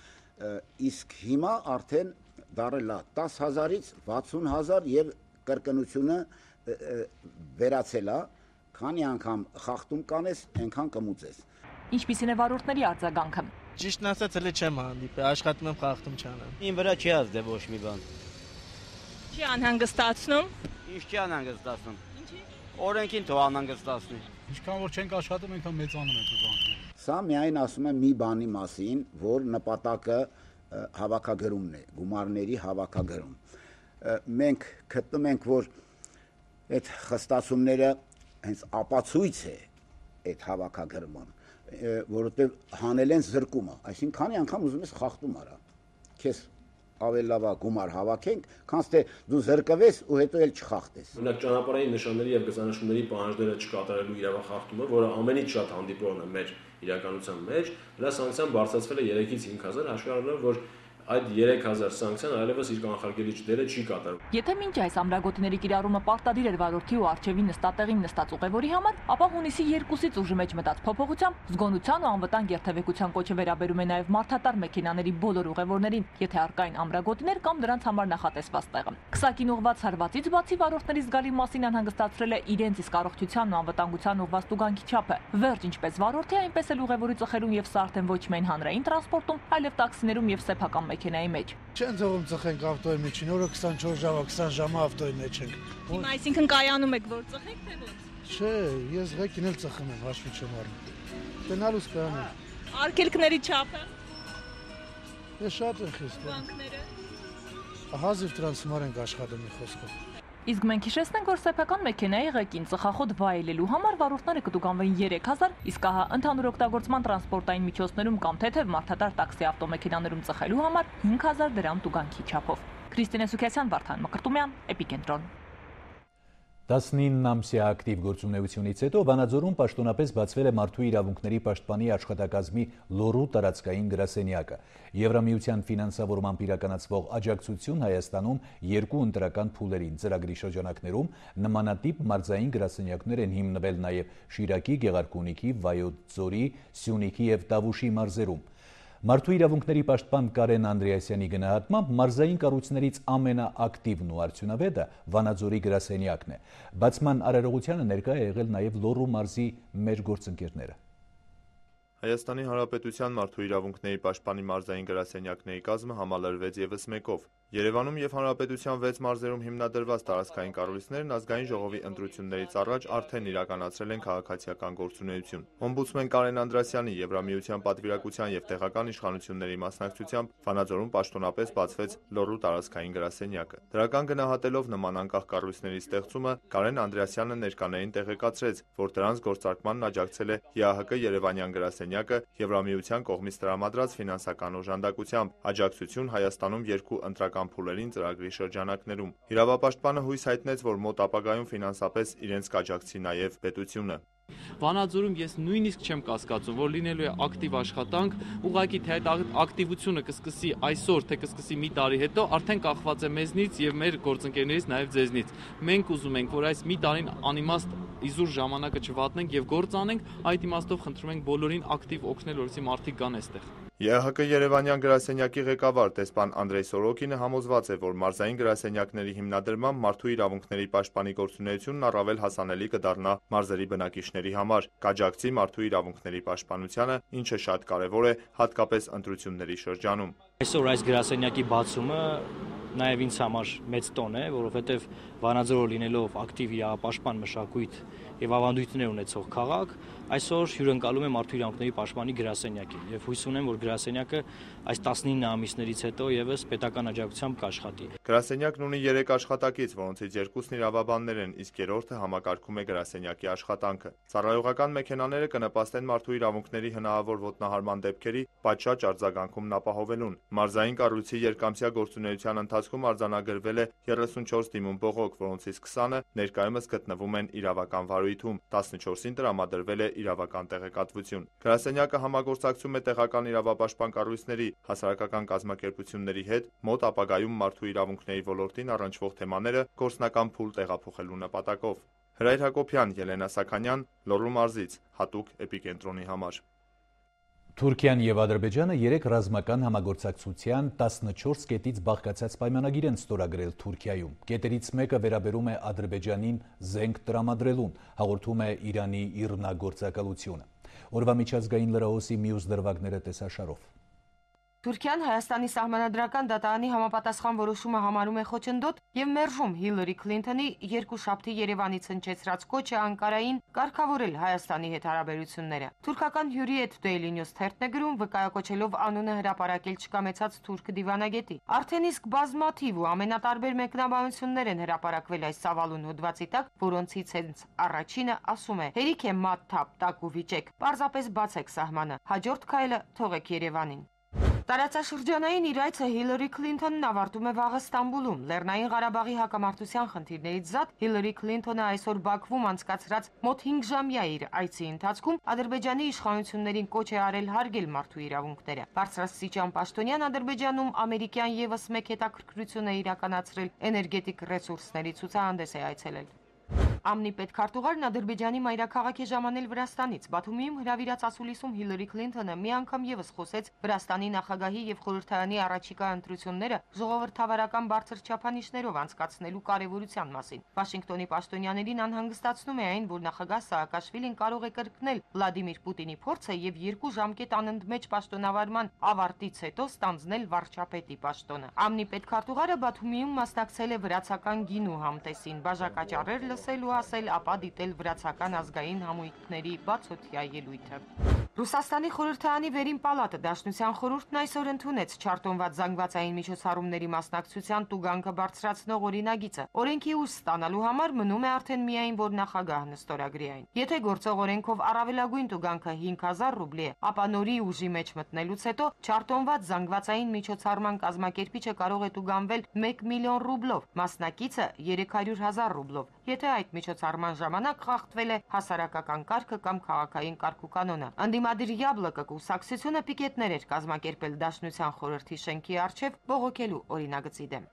իսկ հիմա արդեն դարել է 10000-ից 60000 եւ կրկնությունը վերացել է, քանի անգամ խախտում կանես, այնքան կմուծես։ Ինչպիսին է վարորդների արձագանքը։ Ճիշտն ասած, հենց չեմ հանդիպել, աշխատում եմ խախտում չանեմ։ Ին վրա չի ազդել ոչ մի բան։ Չի անհանգստացնում։ Ինչ չի անհանգստացնում։ Ինչի։ Օրենքին թող անհանգստացնի։ Ինչքան որ չենք աշխատում, այնքան մեծանում են տուգանքները։ Սա միայն ասում եմ մի բանի մասին, որ նպատակը հավաքագրումն է, գումարների հավաքագրում։ Մենք գտնում ենք, որ այդ խստացումները հենց ապացույց է այդ հավաքագրման, որովհետև հանել են զրկումը, այսինքն քանի անգամ ուզում ես խախտում արա, քեզ ավելի լավ է գումար հավաքենք, քան թե դու զրկվես ու հետո էլ չխախտես։ Օրինակ ճանապարհային նշանների եւ գծանշումների պահանջները չկատարելու իրավախախտումը, որը ամենից շատ հանդիպողն է մեր իրականության մեջ, դրա սանկցիան բարձրացվել է 3-ից 5000, հաշվի առնելով, որ այդ 3000 սանկցիան այլևս իր կանխարգելիչ դերը չի կատարում։ Եթե մինչ այս ամրագոտիների կիրառումը պարտադիր էր վարորդի ու առջևի նստատեղին նստած ուղևորի համար, ապա հունիսի 2-ից ուժի մեջ մտած փոփոխությամբ զգոնության ու անվտանգ երթևեկության կոչը վերաբերում է նաև մարդատար մեքենաների բոլոր ուղևորներին, եթե առկային ամրագոտիներ կամ դրանց համար նախատեսված տեղը։ Քսակին ուղված հարվածից բացի վարորդների զգալի մասին անհանգստացրել է իրենց իսկ առողջությանն ու անվտանգության ուղղված տուգանքի չափը։ Վերջ ինչպես վարորդի, այնպես էլ ուղևորի ծխելուն եւ սա արդեն ոչ միայն հանրային տրանսպորտում, այլև տաքսիներում եւ սեփական մեքենայի մեջ։ Չեն թողում ծխենք ավտոյի միջին, օրը 24 ժամ, 20 ժամ ավտոյի մեջ ենք։ Հիմա այսինքն կայանում եք, որ ծխեք, թե ոչ։ Չէ, ես ղեկին էլ ծխում եմ, հաշվի չեմ առնում։ Տնալուց կայանում։ Արգելքների չափը։ Ես շատ եմ խիստ։ Բանկները։ Հազիվ տրանսֆորմար ենք աշխատում մի խոսքով։ Իսկ մենք հիշեցնենք, որ սեփական մեքենայի ղեկին ծխախոտ վայելելու համար վարորդները կտուգանվեին 3000, իսկ ահա ընդհանուր օգտագործման տրանսպորտային միջոցներում կամ թեթև մարդատար տաքսի ավտոմեքենաներում ծխելու համար 5000 դրամ տուգանքի չափով։ Քրիստինե Սուքիասյան, Վարդան Մկրտումյան, Էպիկենտրոն։ 19-ամսյա ակտիվ գործունեությունից հետո Վանաձորում պաշտոնապես բացվել է Մարդու իրավունքների պաշտպանի աշխատակազմի Լոռու տարածքային գրասենյակը։ Եվրամիության ֆինանսավորմամբ իրականացվող աջակցություն Հայաստանում 2 ընտրական փուլերին ծրագրի շրջանակներում նմանատիպ մարզային գրասենյակներ են հիմնվել նաև Շիրակի, Գեղարքունիքի, Վայոց ձորի, Սյունիքի եւ Տավուշի մարզերում։ Մարդու իրավունքների պաշտպան Կարեն Անդրեասյանի գնահատմամբ մարզային կառույցներից ամենաակտիվն ու արդյունավետը Վանաձորի գրասենյակն է։ Բացման արարողությանը ներկա է եղել նաև Լոռու մարզի մեր գործընկերները։ Հայաստանի Հանրապետության Մարդու իրավունքների պաշտպանի մարզային գրասենյակների կազմը համալրվեց եւս մեկով։ Երևանում եւ Հանրապետության 6 մարզերում հիմնադրված տարածքային կառույցներն ազգային ժողովի ընտրություններից առաջ արդեն իրականացրել են քաղաքացիական գործունեություն։ Օմբուդսմեն Կարեն Անդրեասյանի Եվրամիության պատվիրակության եւ տեղական իշխանությունների մասնակցությամբ Վանաձորում պաշտոնապես բացվեց Լոռու տարածքային գրասենյակը։ Դրական գնահատելով նման անկախ կառույցների ստեղծումը, Կարեն Անդրեասյանը ներկաներին տեղեկացրեց, որ դրանց գործարկմանն աջակցել է ՀԱՀԿ Երևանյան գրասենյակը Եվրամիության կողմից տրամադրած ֆինանսական օժանդակությամբ, աջակցություն Հայաստանում 2 ընտրական փուլերին ծրագրի շրջանակներում։ Իրավապաշտպանը հույս հայտնեց, որ մոտ ապագայում ֆինանսապես իրենց կաջակցի նաև պետությունը։ Վանաձորում ես նույնիսկ չեմ կասկածում, որ լինելու է ակտիվ աշխատանք, ուղղակի թե այդ ակտիվությունը կսկսի այսօր, թե կսկսի մի տարի հետո, արդեն կախված է մեզնից եւ մեր գործընկերներից, նաեւ ձեզնից։ Մենք ուզում ենք, որ այս մի տարին անիմաստ իզուր ժամանակը չվատնենք եւ գործ անենք, այդ իմաստով խնդրում ենք բոլորին ակտիվ օգնել, որպեսզի մարդիկ գան այստեղ։ ԵՀԿ Երևանյան գրասենյակի ղեկավար դեսպան Անդրեյ Սորոկինը համոզված է, որ մարզային գրասենյակների հիմնադրմամբ մարդու իրավունքների պաշտպանի գործունեությունն առավել հասանելի կդառնա մարզերի բնակիչների համար, կաջակցի մարդու իրավունքների պաշտպանությանը, ինչը շատ կարևոր է հատկապես ընտրությունների շրջանում։ Այսօր այս գրասենյակի բացումը նաև ինձ համար մեծ տոն է, որովհետև Վանաձորը լինելով ակտիվ իրավապաշտպան մշակույթ եւ ավանդույթներ ունեցող քաղաք, այսօր հյուրընկալում է մարդու իրավունքների պաշտպանի գրասենյակին եւ հույս ունեմ, որ գրասենյակը այս 19 ամիսներից հետո եւս պետական աջակցությամբ կաշխատի։ Գրասենյակն ունի 3 աշխատակից, որոնցից 2-ն իրավաբաններ են, իսկ 3-ը համակարգում է գրասենյակի աշխատանքը։ Ծառայողական մեքենաները կնպաստեն մարդու իրավունքների հնարավոր ոտնահարման դեպքերի պատշաճ արձագանքումն ապահովելուն։ Մարզային կառույցի երկամսյա գործունեության ընթացքում արձանագրվել է 34 դիմում բողոք, որոնցից 20-ը ներկայումս գտնվում են իրավական վարույթում, 14-ին տրամադրվել է իրավական տեղեկատվություն։ Գրասենյակը համագործակցում է տեղական իրավապաշտպան կառույցների, հասարակական կազմակերպությունների հետ մոտ ապագայում մարդու իրավունքների ոլորտին առնչվող թեմաները գործնական փուլ տեղափոխելու նպատակով։ Հրայր Հակոբյան, Ելենա Սաքանյան, Լոռու մարզից, հատուկ էպիկենտրոնի համար։ Թուրքիան եւ Ադրբեջանը 3 ռազմական համագործակցության 14 կետից բաղկացած պայմանագիր են ստորագրել Թուրքիայում։ Կետերից մեկը վերաբերում է Ադրբեջանին զենք տրամադրելուն, հաղորդում է Իրանի իռնագործակալությունը։ Օրվա միջազգային լրահոսի մյուս դրվագները տեսաշարով։ Թուրքիան Հայաստանի սահմանադրական դատարանի համապատասխան որոշումը համարում է խոչընդոտ եւ մերժում Հիլարի Քլինթոնի երկուշաբթի Երևանից հնչեցրած կոչը Անկարային կարգավորել Հայաստանի հետ հարաբերությունները։ Թուրքական Hürriyet Daily News թերթն է գրում, վկայակոչելով անունը հրապարակել չկամեցած թուրք դիվանագետի։ Արդեն իսկ բազմաթիվ ու ամենատարբեր մեկնաբանություններ են հրապարակվել այս սավալուն հոդվածի տակ, որոնցից հենց առաջինը ասում է. «Հերիք է մատ թափ տակ ու վիճեք, պարզապես բացեք սահմանը, հաջորդ քայլը թողեք Երևանին»։ Տարածաշրջանային իր այցը Հիլարի Քլինթոնն ավարտում է վաղը Ստամբուլում։ Լեռնային Ղարաբաղի հակամարտության խնդիրներից զատ Հիլարի Քլինթոնը այսօր Բաքվում անցկացրած մոտ 5-ժամյա իր այցի ընթացքում Ադրբեջանի իշխանություններին կոչ է արել հարգել մարդու իրավունքները։ Բարձրաստիճան պաշտոնյան Ադրբեջանում ամերիկյան եւս մեկ հետաքրքրություն է իրականացրել էներգետիկ ռեսուրսների ցուցահանդես է այցելել։ ԱՄՆ պետքարտուղարն Ադրբեջանի մայրաքաղաք է ժամանել Վրաստանից։ Բաթումիում հրավիրած ասուլիսում Հիլարի Քլինթոնը մի անգամ եւս խոսեց Վրաստանի նախագահի եւ խորհրդարանի առաջիկա ընտրությունները ժողովրդավարական բարձր չափանիշներով անցկացնելու կարեւորության մասին։ Վաշինգտոնի պաշտոնյաներին անհանգստացնում է այն, որ նախագահ Սաակաշվիլին կարող է կրկնել Վլադիմիր Պուտինի փորձը եւ 2 ժամկետ անընդմեջ պաշտոնավարման ավարտից հետո ստանձնել վարչապետի պաշտոնը։ ԱՄՆ պետքարտուղարը Բաթումիում մասնակցել է վրացական գինու համտեսին, բաժակաճառեր լսել ու ասել, ապա դիտել վրացական ազգային համույթների բացօթյա ելույթը։ Ռուսաստանի խորհրդարանի վերին պալատը Դաշնության խորհուրդն այսօր ընդունեց չարտոնված զանգվածային միջոցառումների մասնակցության տուգանքը բարձրացնող օրինագիծը։ Օրենքի ուժ ստանալու համար մնում է արդեն միայն, որ նախագահն ստորագրի այն։ Եթե գործող օրենքով առավելագույն տուգանքը 5000 ռուբլի է, ապա նորի ուժի մեջ մտնելուց հետո չարտոնված զանգվածային միջոցառման կազմակերպիչը կարող է տուգանվել 1 միլիոն ռուբլով, մասնակիցը 300,000 ռուբլով, եթե այդ միջոցառման ժամանակ խախտվել է հասարակական կարգը կամ քաղաքային կարգուկանոնը։ Անդիմադիր Յաբլոկը կուսակցությունը պիկետներ էր կազմակերպել Դաշնության խորհրդի շենքի առջև բողոքելու օրինագծի դեմ։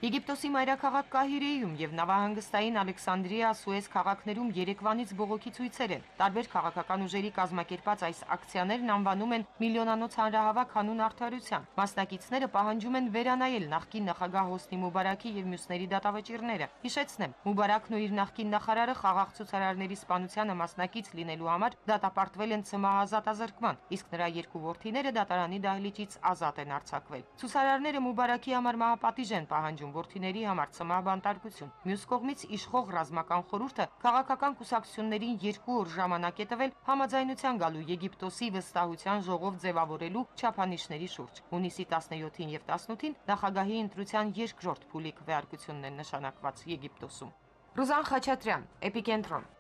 Եգիպտոսի մայրաքաղաք Կահիրեում եւ նավահանգստային Ալեքսանդրիա, Սուեզ քաղաքներում երեկվանից բողոքի ցույցեր են։ Տարբեր քաղաքական ուժերի կազմակերպած այս ակցիաներն անվանում են միլիոնանոց հանրահավաք հանուն արդարության։ Մասնակիցները պահանջում են վերանայել նախկին նախագահ Հոսնի Մուբարակի եւ մյուսների դատավճիռները։ Հիշեցնեմ, Մուբարակն ու իր նախկին նախարարը խաղաղ ցուցարարների սպանությանը մասնակից լինելու համար դատապարտվել են ցմահազատազրկման, իսկ նրա 2 որդիները դատարանի դահլիճից ազատ են արձակվել։ Ցուցարարները Մուբարակի համար մահապատիժ են պահանջում որդիների համար ցմահբանտարկություն։ Մյուս կողմից իշխող ռազմական խորհուրդը քաղաքական կուսակցություններին 2 օր ժամանակ է տվել համաձայնության գալու Եգիպտոսի վստահության ժողով ձևավորելու չափանիշների շուրջ։ Հունիսի 17-ին եւ 18-ին նախագահի ընտրության երկրորդ փուլի քվեարկությունն է նշանակված Եգիպտոսում։ Ռուզան Խաչատրյան, Էպիկենտրոն։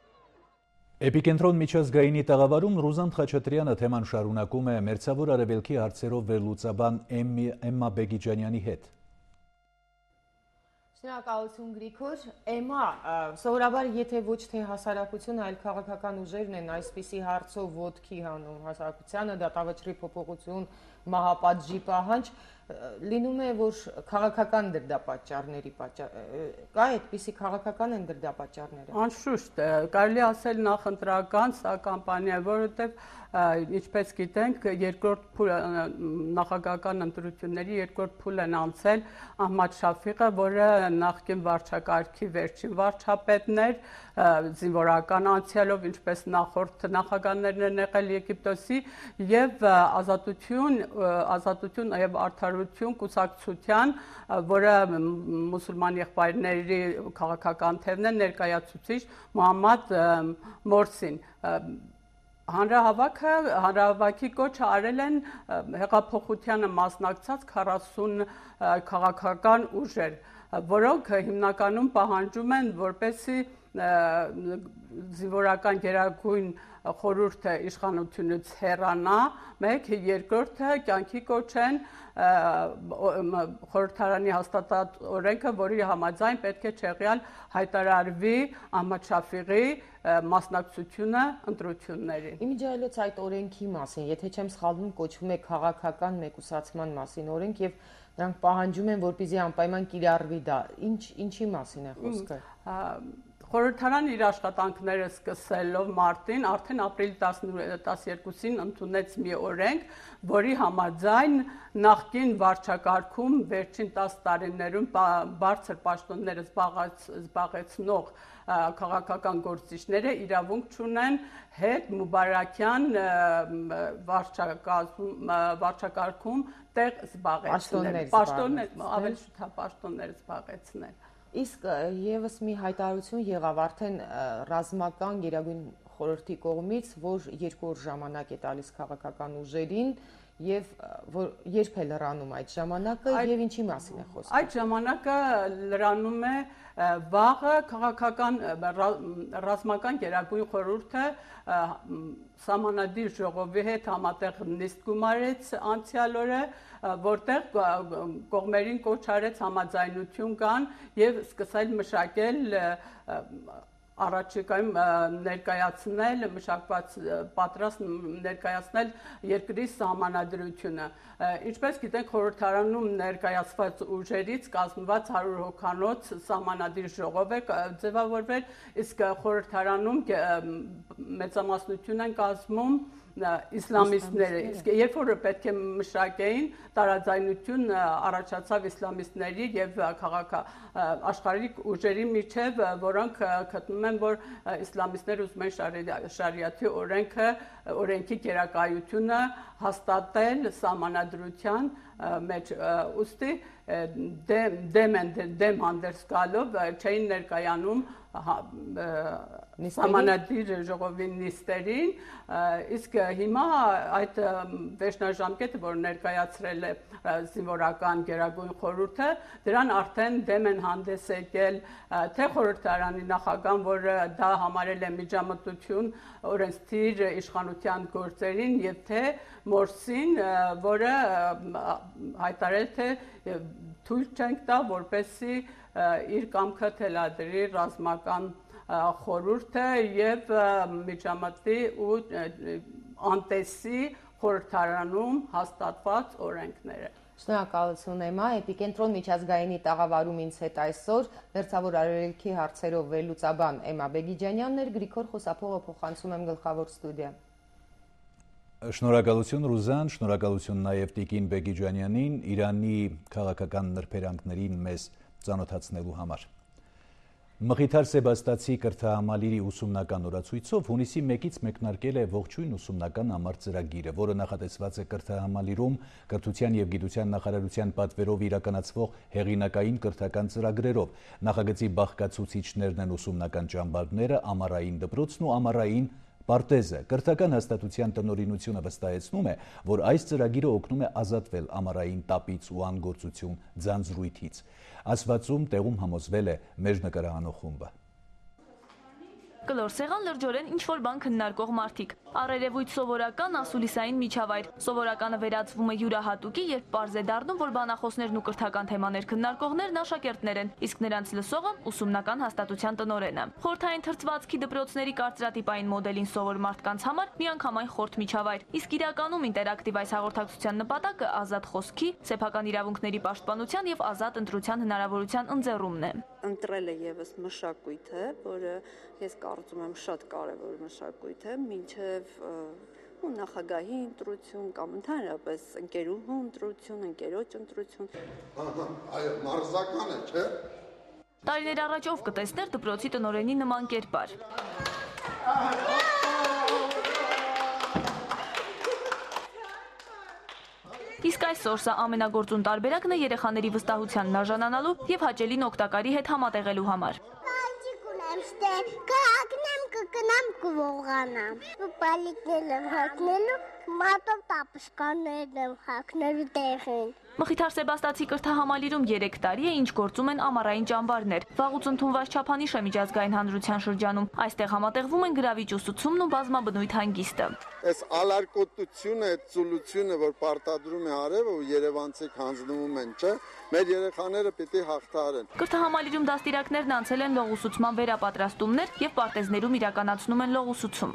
Էպիկենտրոն միջազգայինի տաղավարում Ռուզան Խաչատրյանը թեման շարունակում է Մերձավոր Արևելքի հարցերով վերլուծաբան Էմմա Բեգիջանյանի հետ։ Շնորհակալություն Գրիգոր։ Էմա, սովորաբար եթե ոչ թե հասարակությունը, այլ քաղաքական ուժերն են այսպիսի հարցով ոտքի հանում հասարակությանը, դատավճռի փոփոխություն, մահապատժի պահանջ, լինում է, որ քաղաքական դրդապատճառների կա այդպիսի քաղաքական են դրդապատճառները։ Անշուշտ, կարելի ասել նախընտրական սա կամպանիա, որովհետև ինչպես գիտենք, երկրորդ փուլ նախագահական ընտրությունների երկրորդ փուլ են անցել Ահմադ Շաֆիղը, որը նախկին վարչակարգի վերջին վարչապետն էր, զինվորական անցյալով, ինչպես նախորդ նախագահներն են եղել Եգիպտոսի, եւ ազատություն եւ արդարություն կուսակցության, որը մուսուլման եղբայրների քաղաքական թևն է, ներկայացուցիչ Մոհամմադ Մորսին։ Հանրահավաքի կոչը արել են հեղափոխությանը մասնակցած 40 քաղաքական ուժեր, որոնք հիմնականում պահանջում են, որպեսզի զինվորական գերագույն խորհուրդը իշխանությունից հեռանա, մեկ, երկրորդը կյանքի կոչեն խորհրդարանի հաստատած օրենքը, որի համաձայն պետք է չեղյալ հայտարարվի Ահմադ Շաֆիղի մասնակցությունը ընտրություններին։ Իմիջիայլոց այդ օրենքի մասին, եթե չեմ սխալվում, կոչվում է քաղաքական մեկուսացման մասին օրենք եւ նրանք պահանջում են, որպեսզի անպայման կիրառվի դա։ Ինչի մասին է խոսքը։ Խորհրդարան իր աշխատանքները սկսելով մարտին, արդեն ապրիլի 12-ին ընդունեց մի օրենք, որի համաձայն նախկին վարչակարգում վերջին 10 տարիներում բարձր պաշտոններ զբաղեցնող քաղաքական գործիչները իրավունք չունեն հետ Մուբարաքյան վարչակարգում տեղ զբաղեցնել, պաշտոններ զբաղեցնել։ Իսկ եւս մի հայտարարություն եղավ արդեն ռազմական գերագույն խորհրդի կողմից, որ 2 օր ժամանակ է տալիս քաղաքական ուժերին եւ երբ է լրանում այդ ժամանակը եւ ինչի մասին է խոսքը։ Այդ ժամանակը լրանում է վաղը քաղաքական ռազմական գերագույն խորհուրդը Սահմանադիր ժողովի հետ համատեղ նիստ գումարեց անցյալ օրը, որտեղ կողմերին կոչ արեց համաձայնություն կան եւ սկսել մշակել առաջիկայում ներկայացնել մշակված պատրաստ ներկայացնել երկրի սահմանադրությունը։ Ինչպես գիտենք, խորհրդարանում ներկայացված ուժերից կազմված 100 հոգանոց սահմանադիր ժողով է ձևավորվել, իսկ խորհրդարանում մեծամասնություն են կազմում իսլամիստները, իսկ երբ որ պետք է մշակեին, տարաձայնություն առաջացավ իսլամիստների եւ աշխարհիկ ուժերի միջև, որոնք գտնում են, որ իսլամիստները ուզում են շարիաթի օրենքի գերակայությունը հաստատել սահմանադրության մեջ, ուստի դեմ հանդերձ գալով չէին ներկայանում Սահմանադիր ժողովի նիստերին, իսկ հիմա այդ վերջնաժամկետը, որ ներկայացրել է զինվորական գերագույն խորհուրդը, դրան արդեն դեմ են հանդես եկել թե խորհրդարանի նախագահան, որը դա համարել է միջամտություն օրենսդիր իշխանության գործերին, եւ թե Մորսին, որը հայտարարել թե թույլ չենք տա, որպեսզի իր կամքը թելադրի ռազմական խորհուրդը եւ միջամտի ու անտեսի խորհրդարանում հաստատված օրենքները։ Շնորհակալություն Էմա, Էպիկենտրոն միջազգայինի տաղավարում ինձ հետ այսօր Մերձավոր Արևելքի հարցերով վերլուծաբան Էմա Բեգիջանյանն էր, Գրիգոր Խոսափողը փոխանցում եմ գլխավոր ստուդիա։ Շնորհակալություն Ռուզան, շնորհակալություն նաև Տիկին Բեգիջանյանին Իրանի քաղաքական նրբերանգներին մեզ ծանոթացնելու համար։ Մխիթար Սեբաստացի կրթահամալիրի ուսումնական օրացույցով հունիսի 1-ից մեկնարկել է ողջույն ուսումնական ամառ ծրագիրը, որը նախատեսված է կրթահամալիրում կրթության եւ գիտության նախարարության պատվերով իրականացվող հեղինակային կրթական ծրագրերով։ Նախագծի բաղկացուցիչներն են ուսումնական ճամբարները, ամառային դպրոցն ու ամառային պարտեզը։ Կրթական հաստատության տնօրինությունը վստահեցնում է, որ այս ծրագիրը օգնում է ազատվել ամառային տապից ու անգործություն ձանձրույթից։ Ասվածում տեղում համոզվել է մեր նկարահանող խումբը։ Կլոր սեղան լրջորեն ինչ-որ բան քննարկող մարդիկ։ Առերևույթ սովորական ասուլիսային միջավայր։ Սովորականը վերածվում է յուրահատուկի, երբ պարզ է դառնում, որ բանախոսներն ու կրթական թեմաներ քննարկողներն աշակերտներ են, իսկ նրանց լսողը ուսումնական հաստատության տնօրենը։ Խորհրդային թրծվածքի դպրոցների կարծրատիպային մոդելին սովոր մարդկանց համար միանգամայն խորտ միջավայր, իսկ իրականում ինտերակտիվ այս հաղորդակցության նպատակը ազատ խոսքի, սեփական իրավունքների պաշտպանության եւ ազատ ընտրության հնարավորության ընձեռումն է։ Ընտրել է եւս մշակույթը, որը ես կարծում եմ շատ կարևոր մշակույթ է, մինչև նախագահի ընտրություն կամ ընդհանրապես ընկերուհու ընտրություն, ընկերոջ ընտրություն։ Այո, մարզական է, չէ՞։ Տարիներ առաջ ով կտեսներ դպրոցի տնօրենի նման կերպար։ Իսկ այսօր սա ամենագործուն տարբերակն է երեխաների վստահությանն արժանանալու եւ հաճելին օգտակարի հետ համատեղելու համար։ Կհակնեմ, կկնամ, կվողանամ։ Պալիկներ եմ հակնելու, մատով տապշկաններ եմ հակնելու տեղին։ Մխիթար Սեբաստացի կրթահամալիրում 3 տարի է, ինչ գործում են ամառային ճամբարներ։ Վաղուց ընդունված չափանիշ է միջազգային հանրության շրջանում։ Այստեղ համատեղվում են գրավիչ ուսուցումն ու բազմաբնույթ հանգիստը։ Այս ալարկոտությունը, այդ ծուլությունը, որ պարտադրում է արևը ու երևանցիք հանձնվում են, չէ՞, մեր երեխաները պիտի հաղթահարեն։ Կրթահամալիրում դաստիարակներն անցել են լողուսուցման վերապատրաստումներ եւ պարտեզներում իրականացնում են լողուսուցում։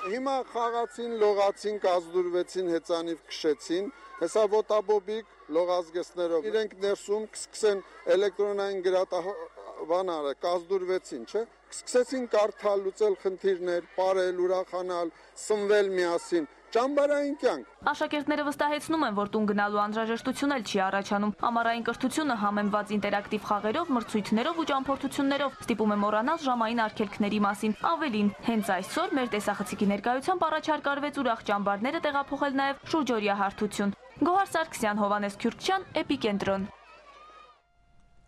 Հիմա խաղացին, լողացին, կազդուրվեցին, հեծանիվ քշեցին, հեսա ոտաբոբիկ լողազգեստներով։ Իրենք ներսում կսկսեն էլեկտրոնային գրատավանարը, կազդուրվեցին, չէ՞։ Սկսեցին կարդալ, լուծել խնդիրներ, ապարել, ուրախանալ, սնվել միասին։ Ճամբարային կյանք։ Աշակերտները վստահեցնում են, որ տուն գնալու անհրաժեշտություն էլ չի առաջանում։ Ամառային կրթությունը համեմված ինտերակտիվ խաղերով, մրցույթներով ու ճամփորդություններով ստիպում է մոռանալ ժամային արգելքների մասին։ Ավելին, հենց այսօր մեր տեսախցիկի ներկայությամբ առաջարկ արվեց ուրախ ճամբարները տեղափոխել նաև շուրջօրյա հարթություն։ Գոհար Սարգսյան, Հովանես Քյուրքչյան, Էպիկենտրոն։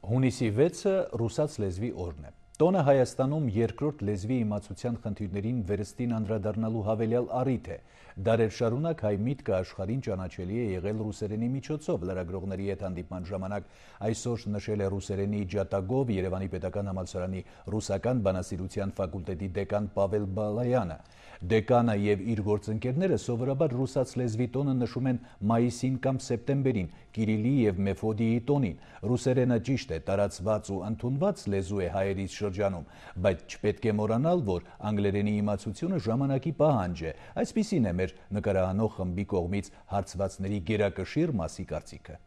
Հունիսի 6-ը ռուսաց լեզվի օրն է։ Տոնը Հայաստանում երկրորդ լեզվի իմացության խնդիրներին վերստին անդրադառնալու հավելյալ առիթ է։ Դարեր շարունակ հայ միտքը աշխարհին ճանաչելի է եղել ռուսերենի միջոցով։ Լրագրողների հետ հանդիպման ժամանակ այսօր նշել է ռուսերենի ջատագով Երևանի պետական համալսարանի ռուսական բանասիրության ֆակուլտետի դեկան Պավել Բալայանը։ Դեկանը եւ իր գործընկերները սովորաբար ռուսաց լեզվի տոնը նշում են մայիսին կամ սեպտեմբերին, Կիրիլի եւ Մեֆոդիի տոնին։ Ռուսերենը ճիշտ է, տարածված ու ընդունված լեզու է հայերից շրջանում, բայց չպետք է մոռանալ, որ անգլերենի իմացությունը ժամանակի պահանջ է։ Այսպիսին է մեր նկարահանող խմբի կողմից հարցվածների գերակշիռ մասի կարծիքը։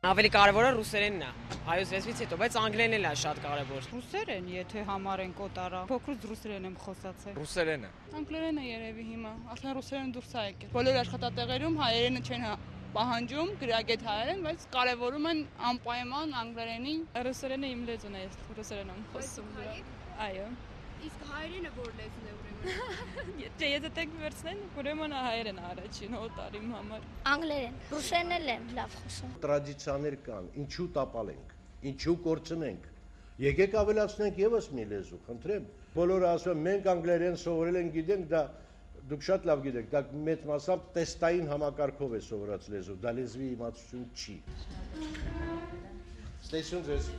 Ավելի կարևորը ռուսերենն է, հայոց լեզվից հետո, բայց անգլերենն էլ է շատ կարևոր։ Ռուսերեն, եթե համարենք օտարա, փոքրուց ռուսերեն եմ խոսացել։ Ռուսերենը։ Անգլերենը երևի հիմա, ասեն ռուսերեն դուրս է եկել։ Բոլոր աշխատատեղերում հայերենը չեն պահանջում, գրագետ հայերեն, բայց կարևորում են անպայման անգլերենին։ Ռուսերենը իմ լեզուն է, ես ռուսերեն եմ խոսում։ Այո։ Իսկ հայերենը որ լեզուն է ուրեմն։ Եթե տեք վերցնեն, ուրեմն հայերեն առաջին օտար իմ համար։ Անգլերեն, ռուսերեն եմ լավ խոսում։ Տրադիցիաներ կան, ինչու տապալենք, ինչու կորցնենք։ Եկեք ավելացնենք եւս մի լեզու, խնդրեմ։ Բոլորը ասում են մենք անգլերեն սովորել ենք, գիտենք, դա դուք շատ լավ գիտեք, դա մեծ մասամբ տեստային համակարգով է սովորած լեզու, դա լեզվի իմացություն չի։ Ստեսյուն ձեզ։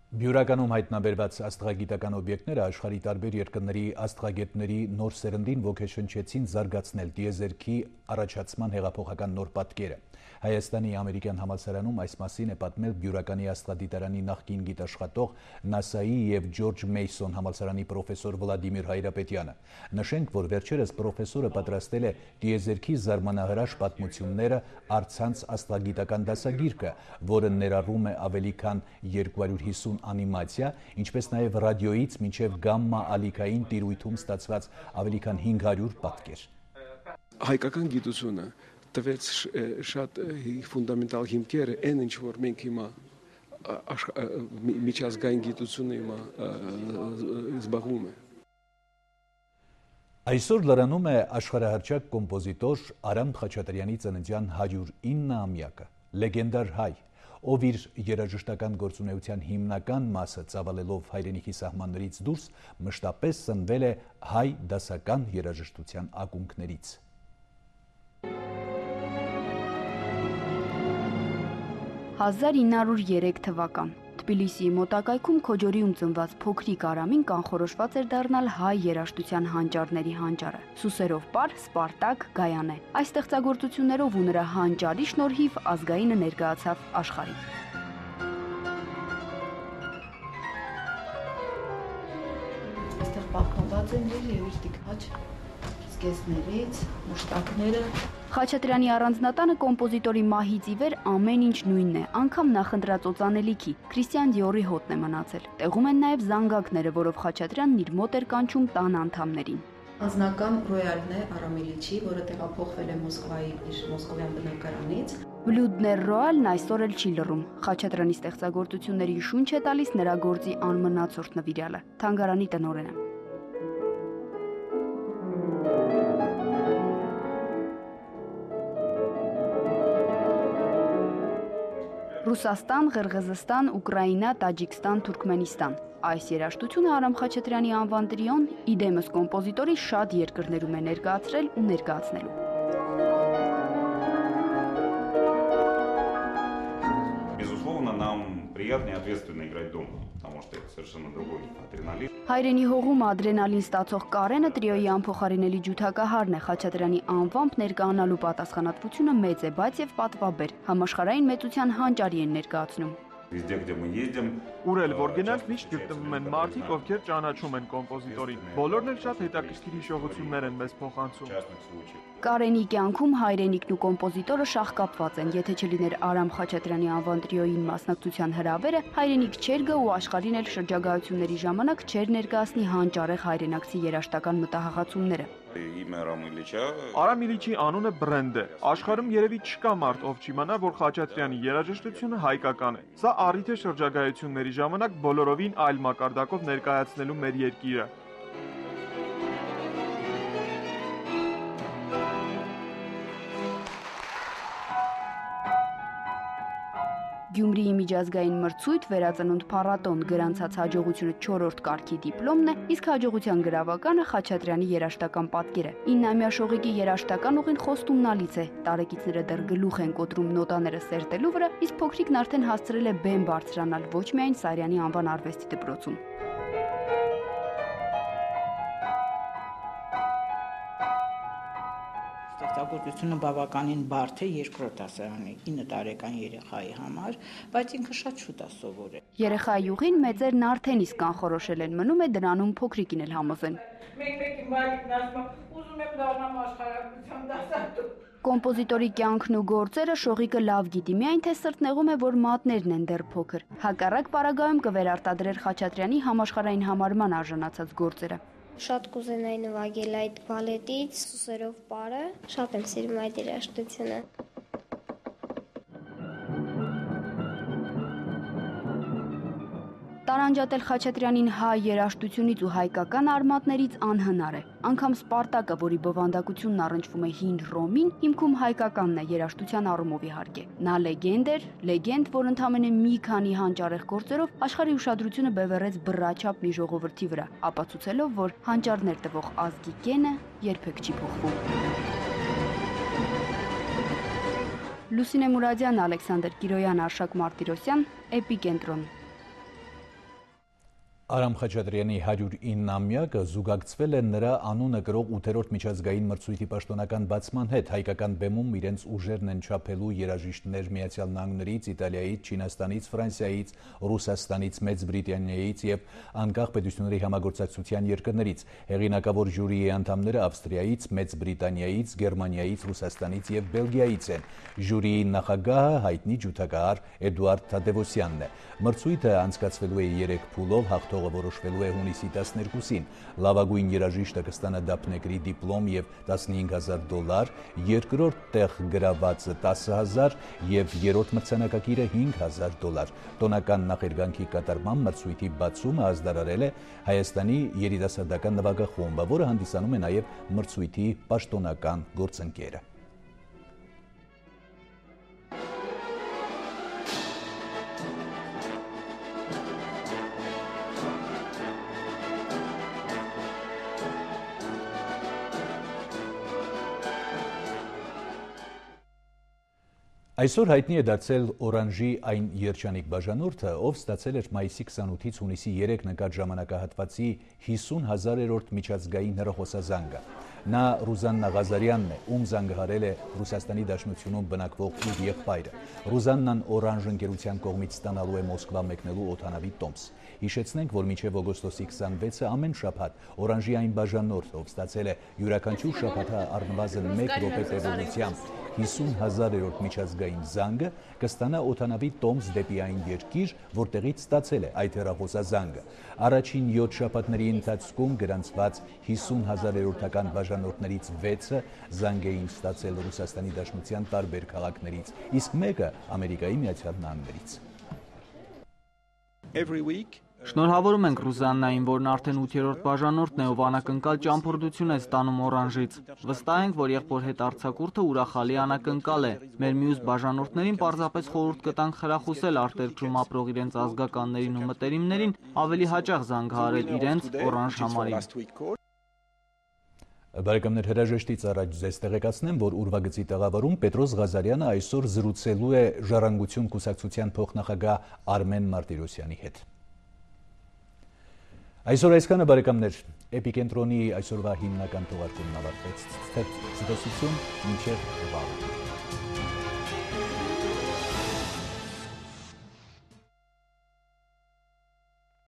Բյուրականում հայտնաբերված աստղագիտական օբյեկտները աշխարհի տարբեր երկրների աստղագետների նոր սերնդին ոգեշնչեցին զարգացնել տիեզերքի առաջացման հեղափոխական նոր պատկերը։ Հայաստանի ամերիկյան համալսարանում այս մասին է պատմել Բյուրականի աստղադիտարանի նախկին գիտաշխատող ՆԱՍԱ-ի եւ Ջորջ Մեյսոն համալսարանի պրոֆեսոր Վլադիմիր Հայրապետյանը։ Նշենք, որ վերջերս պրոֆեսորը պատրաստել է տիեզերքի զարմանահրաշ պատմությունները առցանց աստղագիտական դասագիրքը, որը ներառում է ավելի քան 250 անիմացիա, ինչպես նաև ռադիոից մինչև գամմա ալիքային տիրույթում ստացված ավելի քան 500 պատկեր։ Հայկական գիտությունը տվեց շատ ֆունդամենտալ հիմքեր, այն ինչ որ մենք հիմա միջազգային գիտությունը հիմա զբաղվում է։ Այսօր լրանում է աշխարհահռչակ կոմպոզիտոր Արամ Խաչատրյանի ծննդյան 109-ամյակը, լեգենդար հայ, ով իր երաժշտական գործունեության հիմնական մասը ծավալելով հայրենիքի սահմաններից դուրս մշտապես սնվել է հայ դասական երաժշտության ակունքներից։ 1903 թվական։ Թբիլիսիի մոտակայքում Քոջորիում ծնված փոքրիկ Արամին կանխորոշված էր դառնալ հայ երաժշտության հանճարների հանճարը։ Սուսերով պար, Սպարտակ, Գայանե։ Այս ստեղծագործություններով ու նրա հանճարի շնորհիվ ազգայինը ներկայացավ աշխարհին։ Այստեղ պահպանված են եւ իր տիկնաչ զգեստներից, մուշտակները։ Խաչատրյանի առանձնատանը կոմպոզիտորի մահից ի վեր ամեն ինչ նույնն է, անգամ նախընտրած օծանելիքի։ Քրիստիան Դիորի հոտն է մնացել։ Տեղում են նաև զանգակները, որով Խաչատրյանն իր մոտ էր կանչում տան անդամներին։ Անձնական ռոյալն է Արամիլիչի, որը տեղափոխվել է Մոսկվայի իր մոսկովյան բնակարանից։ Բլյուդներ ռոյալն այսօր էլ չի լռում։ Խաչատրյանի ստեղծագործություններին շունչ է տալիս նրա գործի անմնացորդ նվիրյալը, թանգարանի տնօրենը։ Ռուսաստան, Ղրղզստան, Ուկրաինա, Տաջիկստան, Թուրքմենստան։ Այս երաժշտությունը Արամ Խաչատրյանի անվան տրիոն իդեմս կոմպոզիտորի շատ երկրներում է ներկայացրել ու ներկայացնելու։ Безусловно, нам приятно и ответственно играть дома, потому что это совершенно другой адреналин. Հայրենի հողում ադրենալին ստացող Կարենը տրիոյի անփոխարինելի ջութակահարն է։ Խաչատրյանի անվամբ ներկայանալու պատասխանատվությունը մեծ է, բայց եւ պատվաբեր։ Համաշխարհային մեծության հանճարի են ներկայացնում։ Везде, где мы ездим, Ուր էլ որ գնանք, միշտ գտնվում են մարդիկ, ովքեր ճանաչում են կոմպոզիտորին։ Բոլորն էլ շատ հետաքրքիր հիշողություններ են մեզ փոխանցում։ Կարենի կյանքում հայրենիքն ու կոմպոզիտորը շահկապված են, եթե չլիներ Արամ Խաչատրյանի անվան տրիոյին մասնակցության հրավերը, հայրենիք չէր գա ու աշխարհին էլ շրջագայությունների ժամանակ չէր ներկայացնի հանճարեղ հայրենակցի երաժշտական մտահղացումները։ Имя Арама Ильича. Արամ Իլիչի անունը բրենդ է։ Աշխարհում երևի չկա մարդ, ով չիմանա, որ Խաչատրյանի երաժշտությունը հայկական է։ Սա առիթ է շրջագայությունների ժամանակ բոլորովին այլ մակարդակով ներկայացնելու մեր երկիրը։ Գյումրիի միջազգային մրցույթ վերածնունդ փառատոն գրանցած հաջողությունը 4-րդ կարգի դիպլոմն է, իսկ հաջողության գրավականը Խաչատրյանի երաժշտական պատկերը։ 9-ամյա շողիկի երաժշտական ուղին խոստումնալից է։ Տարեկիցները դեռ գլուխ են կոտրում նոտաները սերտելու վրա, իսկ փոքրիկն արդեն հասցրել է բեմ բարձրանալ ոչ միայն Սարյանի անվան արվեստի դպրոցում։ Ստեղծագործությունը բավականին բարդ է երկրորդ դասարանի 9 տարեկան երեխայի համար, բայց ինքը շատ շուտ է սովորել։ Երեխայի ուղին մեծերն արդեն իսկ կանխորոշել են, մնում է դրանում փոքրիկին էլ համոզեն։ Մեկ-մեկ ինվալիդն ասում է, ուզում եմ դառնամ աշխարհագրության դասատու։ Կոմպոզիտորի կյանքն ու գործերը շողիկը լավ գիտի, միայն թե սրտնեղում է, որ մատներն են դեռ փոքր։ Հակառակ պարագայում կվերարտադրեր Խաչատրյանի համաշխարհային համարման արժանացած գործերը։ Շատ կուզենայի նվագել այդ բալետից, Սուսերով պարը, շատ եմ սիրում այդ երաժշտությունը։ Տարանջատել Խաչատրյանին հայ երաժշտությունից ու հայկական արմատներից անհնար է։ Անգամ Սպարտակը, որի բովանդակությունն առնչվում է հին Ռոմին, հիմքում հայկականն է երաժշտության առումով իհարկե։ Նա լեգենդ, որ ընդամենը մի քանի հանճարեղ գործերով աշխարհի ուշադրությունը բևեռեց բռաչափ մի ժողովրդի վրա, ապացուցելով, որ հանճարներ տվող ազգի կենը երբեք չի փոխվում։ Լուսինե Մուրադյան, Ալեքսանդր Կիրոյան, Արշակ Մարտիրոսյան, Էպիկենտրոն։ Արամ Խաչատրյանի 109-ամյակը զուգակցվել է նրա անունը կրող 8-րդ միջազգային մրցույթի պաշտոնական բացման հետ։ Հայկական բեմում իրենց ուժերն են չափելու երաժիշտներ Միացյալ Նահանգներից, Իտալիայից, Չինաստանից, Ֆրանսիայից, Ռուսաստանից, Մեծ Բրիտանիայից եւ անկախ պետությունների համագործակցության երկրներից։ Հեղինակավոր ժյուրիի անդամները Ավստրիայից, Մեծ Բրիտանիայից, Գերմանիայից, Ռուսաստանից եւ Բելգիայից են։ Ժյուրիի նախագահը հայտնի ջութակահար Էդուարդ Թադևոսյանն է։ Մրցույթը անցկացվելու է 3 փուլով, հաղթողը որոշվելու է հունիսի 12-ին։ Լավագույն երաժիշտը կստանա դափնեկրի դիպլոմ եւ $15,000, երկրորդ տեղ գրավածը $10,000 եւ երրորդ մրցանակակիրը $5,000։ Տոնական նախերգանքի կատարմամբ մրցույթի բացումը ազդարարել է Հայաստանի երիտասարդական նվագախումբը, որը հանդիսանում է նաեւ մրցույթի պաշտոնական գործընկերը։ Այսօր հայտնի է դարձել օրանժի այն երջանիկ բաժանորդը, ով ստացել էր մայիսի 28-ից հունիսի 3 ընկած ժամանակահատվածի 50,000-րդ միջազգային հեռախոսազանգը։ Նա Ռուզաննա Ղազարյանն է, ում զանգահարել է Ռուսաստանի Դաշնությունում բնակվող իր եղբայրը։ Ռուզաննան օրանժ ընկերության կողմից ստանալու է Մոսկվա մեկնելու օդանավի տոմս։ Հիշեցնենք, որ մինչև օգոստոսի 26-ը ամեն շաբաթ օրանժի այն բաժանորդ, ով ստացել է յուրաքանչյուր շաբաթա առնվազն 1 րոպե տևողությամբ 50,000-րդ միջազգային զանգը, կստանա օդանավի տոմս դեպի այն երկիր, որտեղից ստացել է այդ հեռախոսազանգը։ Առաջին 7 շաբաթների ընթացքում գրանցված 50,000-րդական բաժանորդներից 6-ը զանգ էին ստացել Ռուսաստանի Դաշնության տարբեր քաղաքներից, իսկ մեկը Ամերիկայի Միացյալ Նահանգներից։ Շնորհավորում ենք Ռուզաննային, որն արդեն 8-րդ բաժանորդն է, ով անակնկալ ճամփորդություն է ստանում օրանժից։ Վստահ ենք, որ եղբոր հետ արձակուրդը ուրախալի անակնկալ է։ Մեր մյուս բաժանորդներին պարզապես խորհուրդ կտանք խրախուսել արտերկրում ապրող իրենց ազգականներին ու մտերիմներին ավելի հաճախ զանգահարել իրենց օրանժ համարին։ Բարեկամներ, հրաժեշտից առաջ ձեզ տեղեկացնեմ, որ ուրվագծի տաղավարում Պետրոս Ղազարյանը այսօր զրուցելու է Ժառանգություն կուսակցության փոխնախագահ Արմեն Մարտիրոսյանի հետ։ Այսօր այսքանը, բարեկամներ, Էպիկենտրոնի այսօրվա հիմնական թողարկումն ավարտվեց։ Ցտեսություն, մինչև վաղ։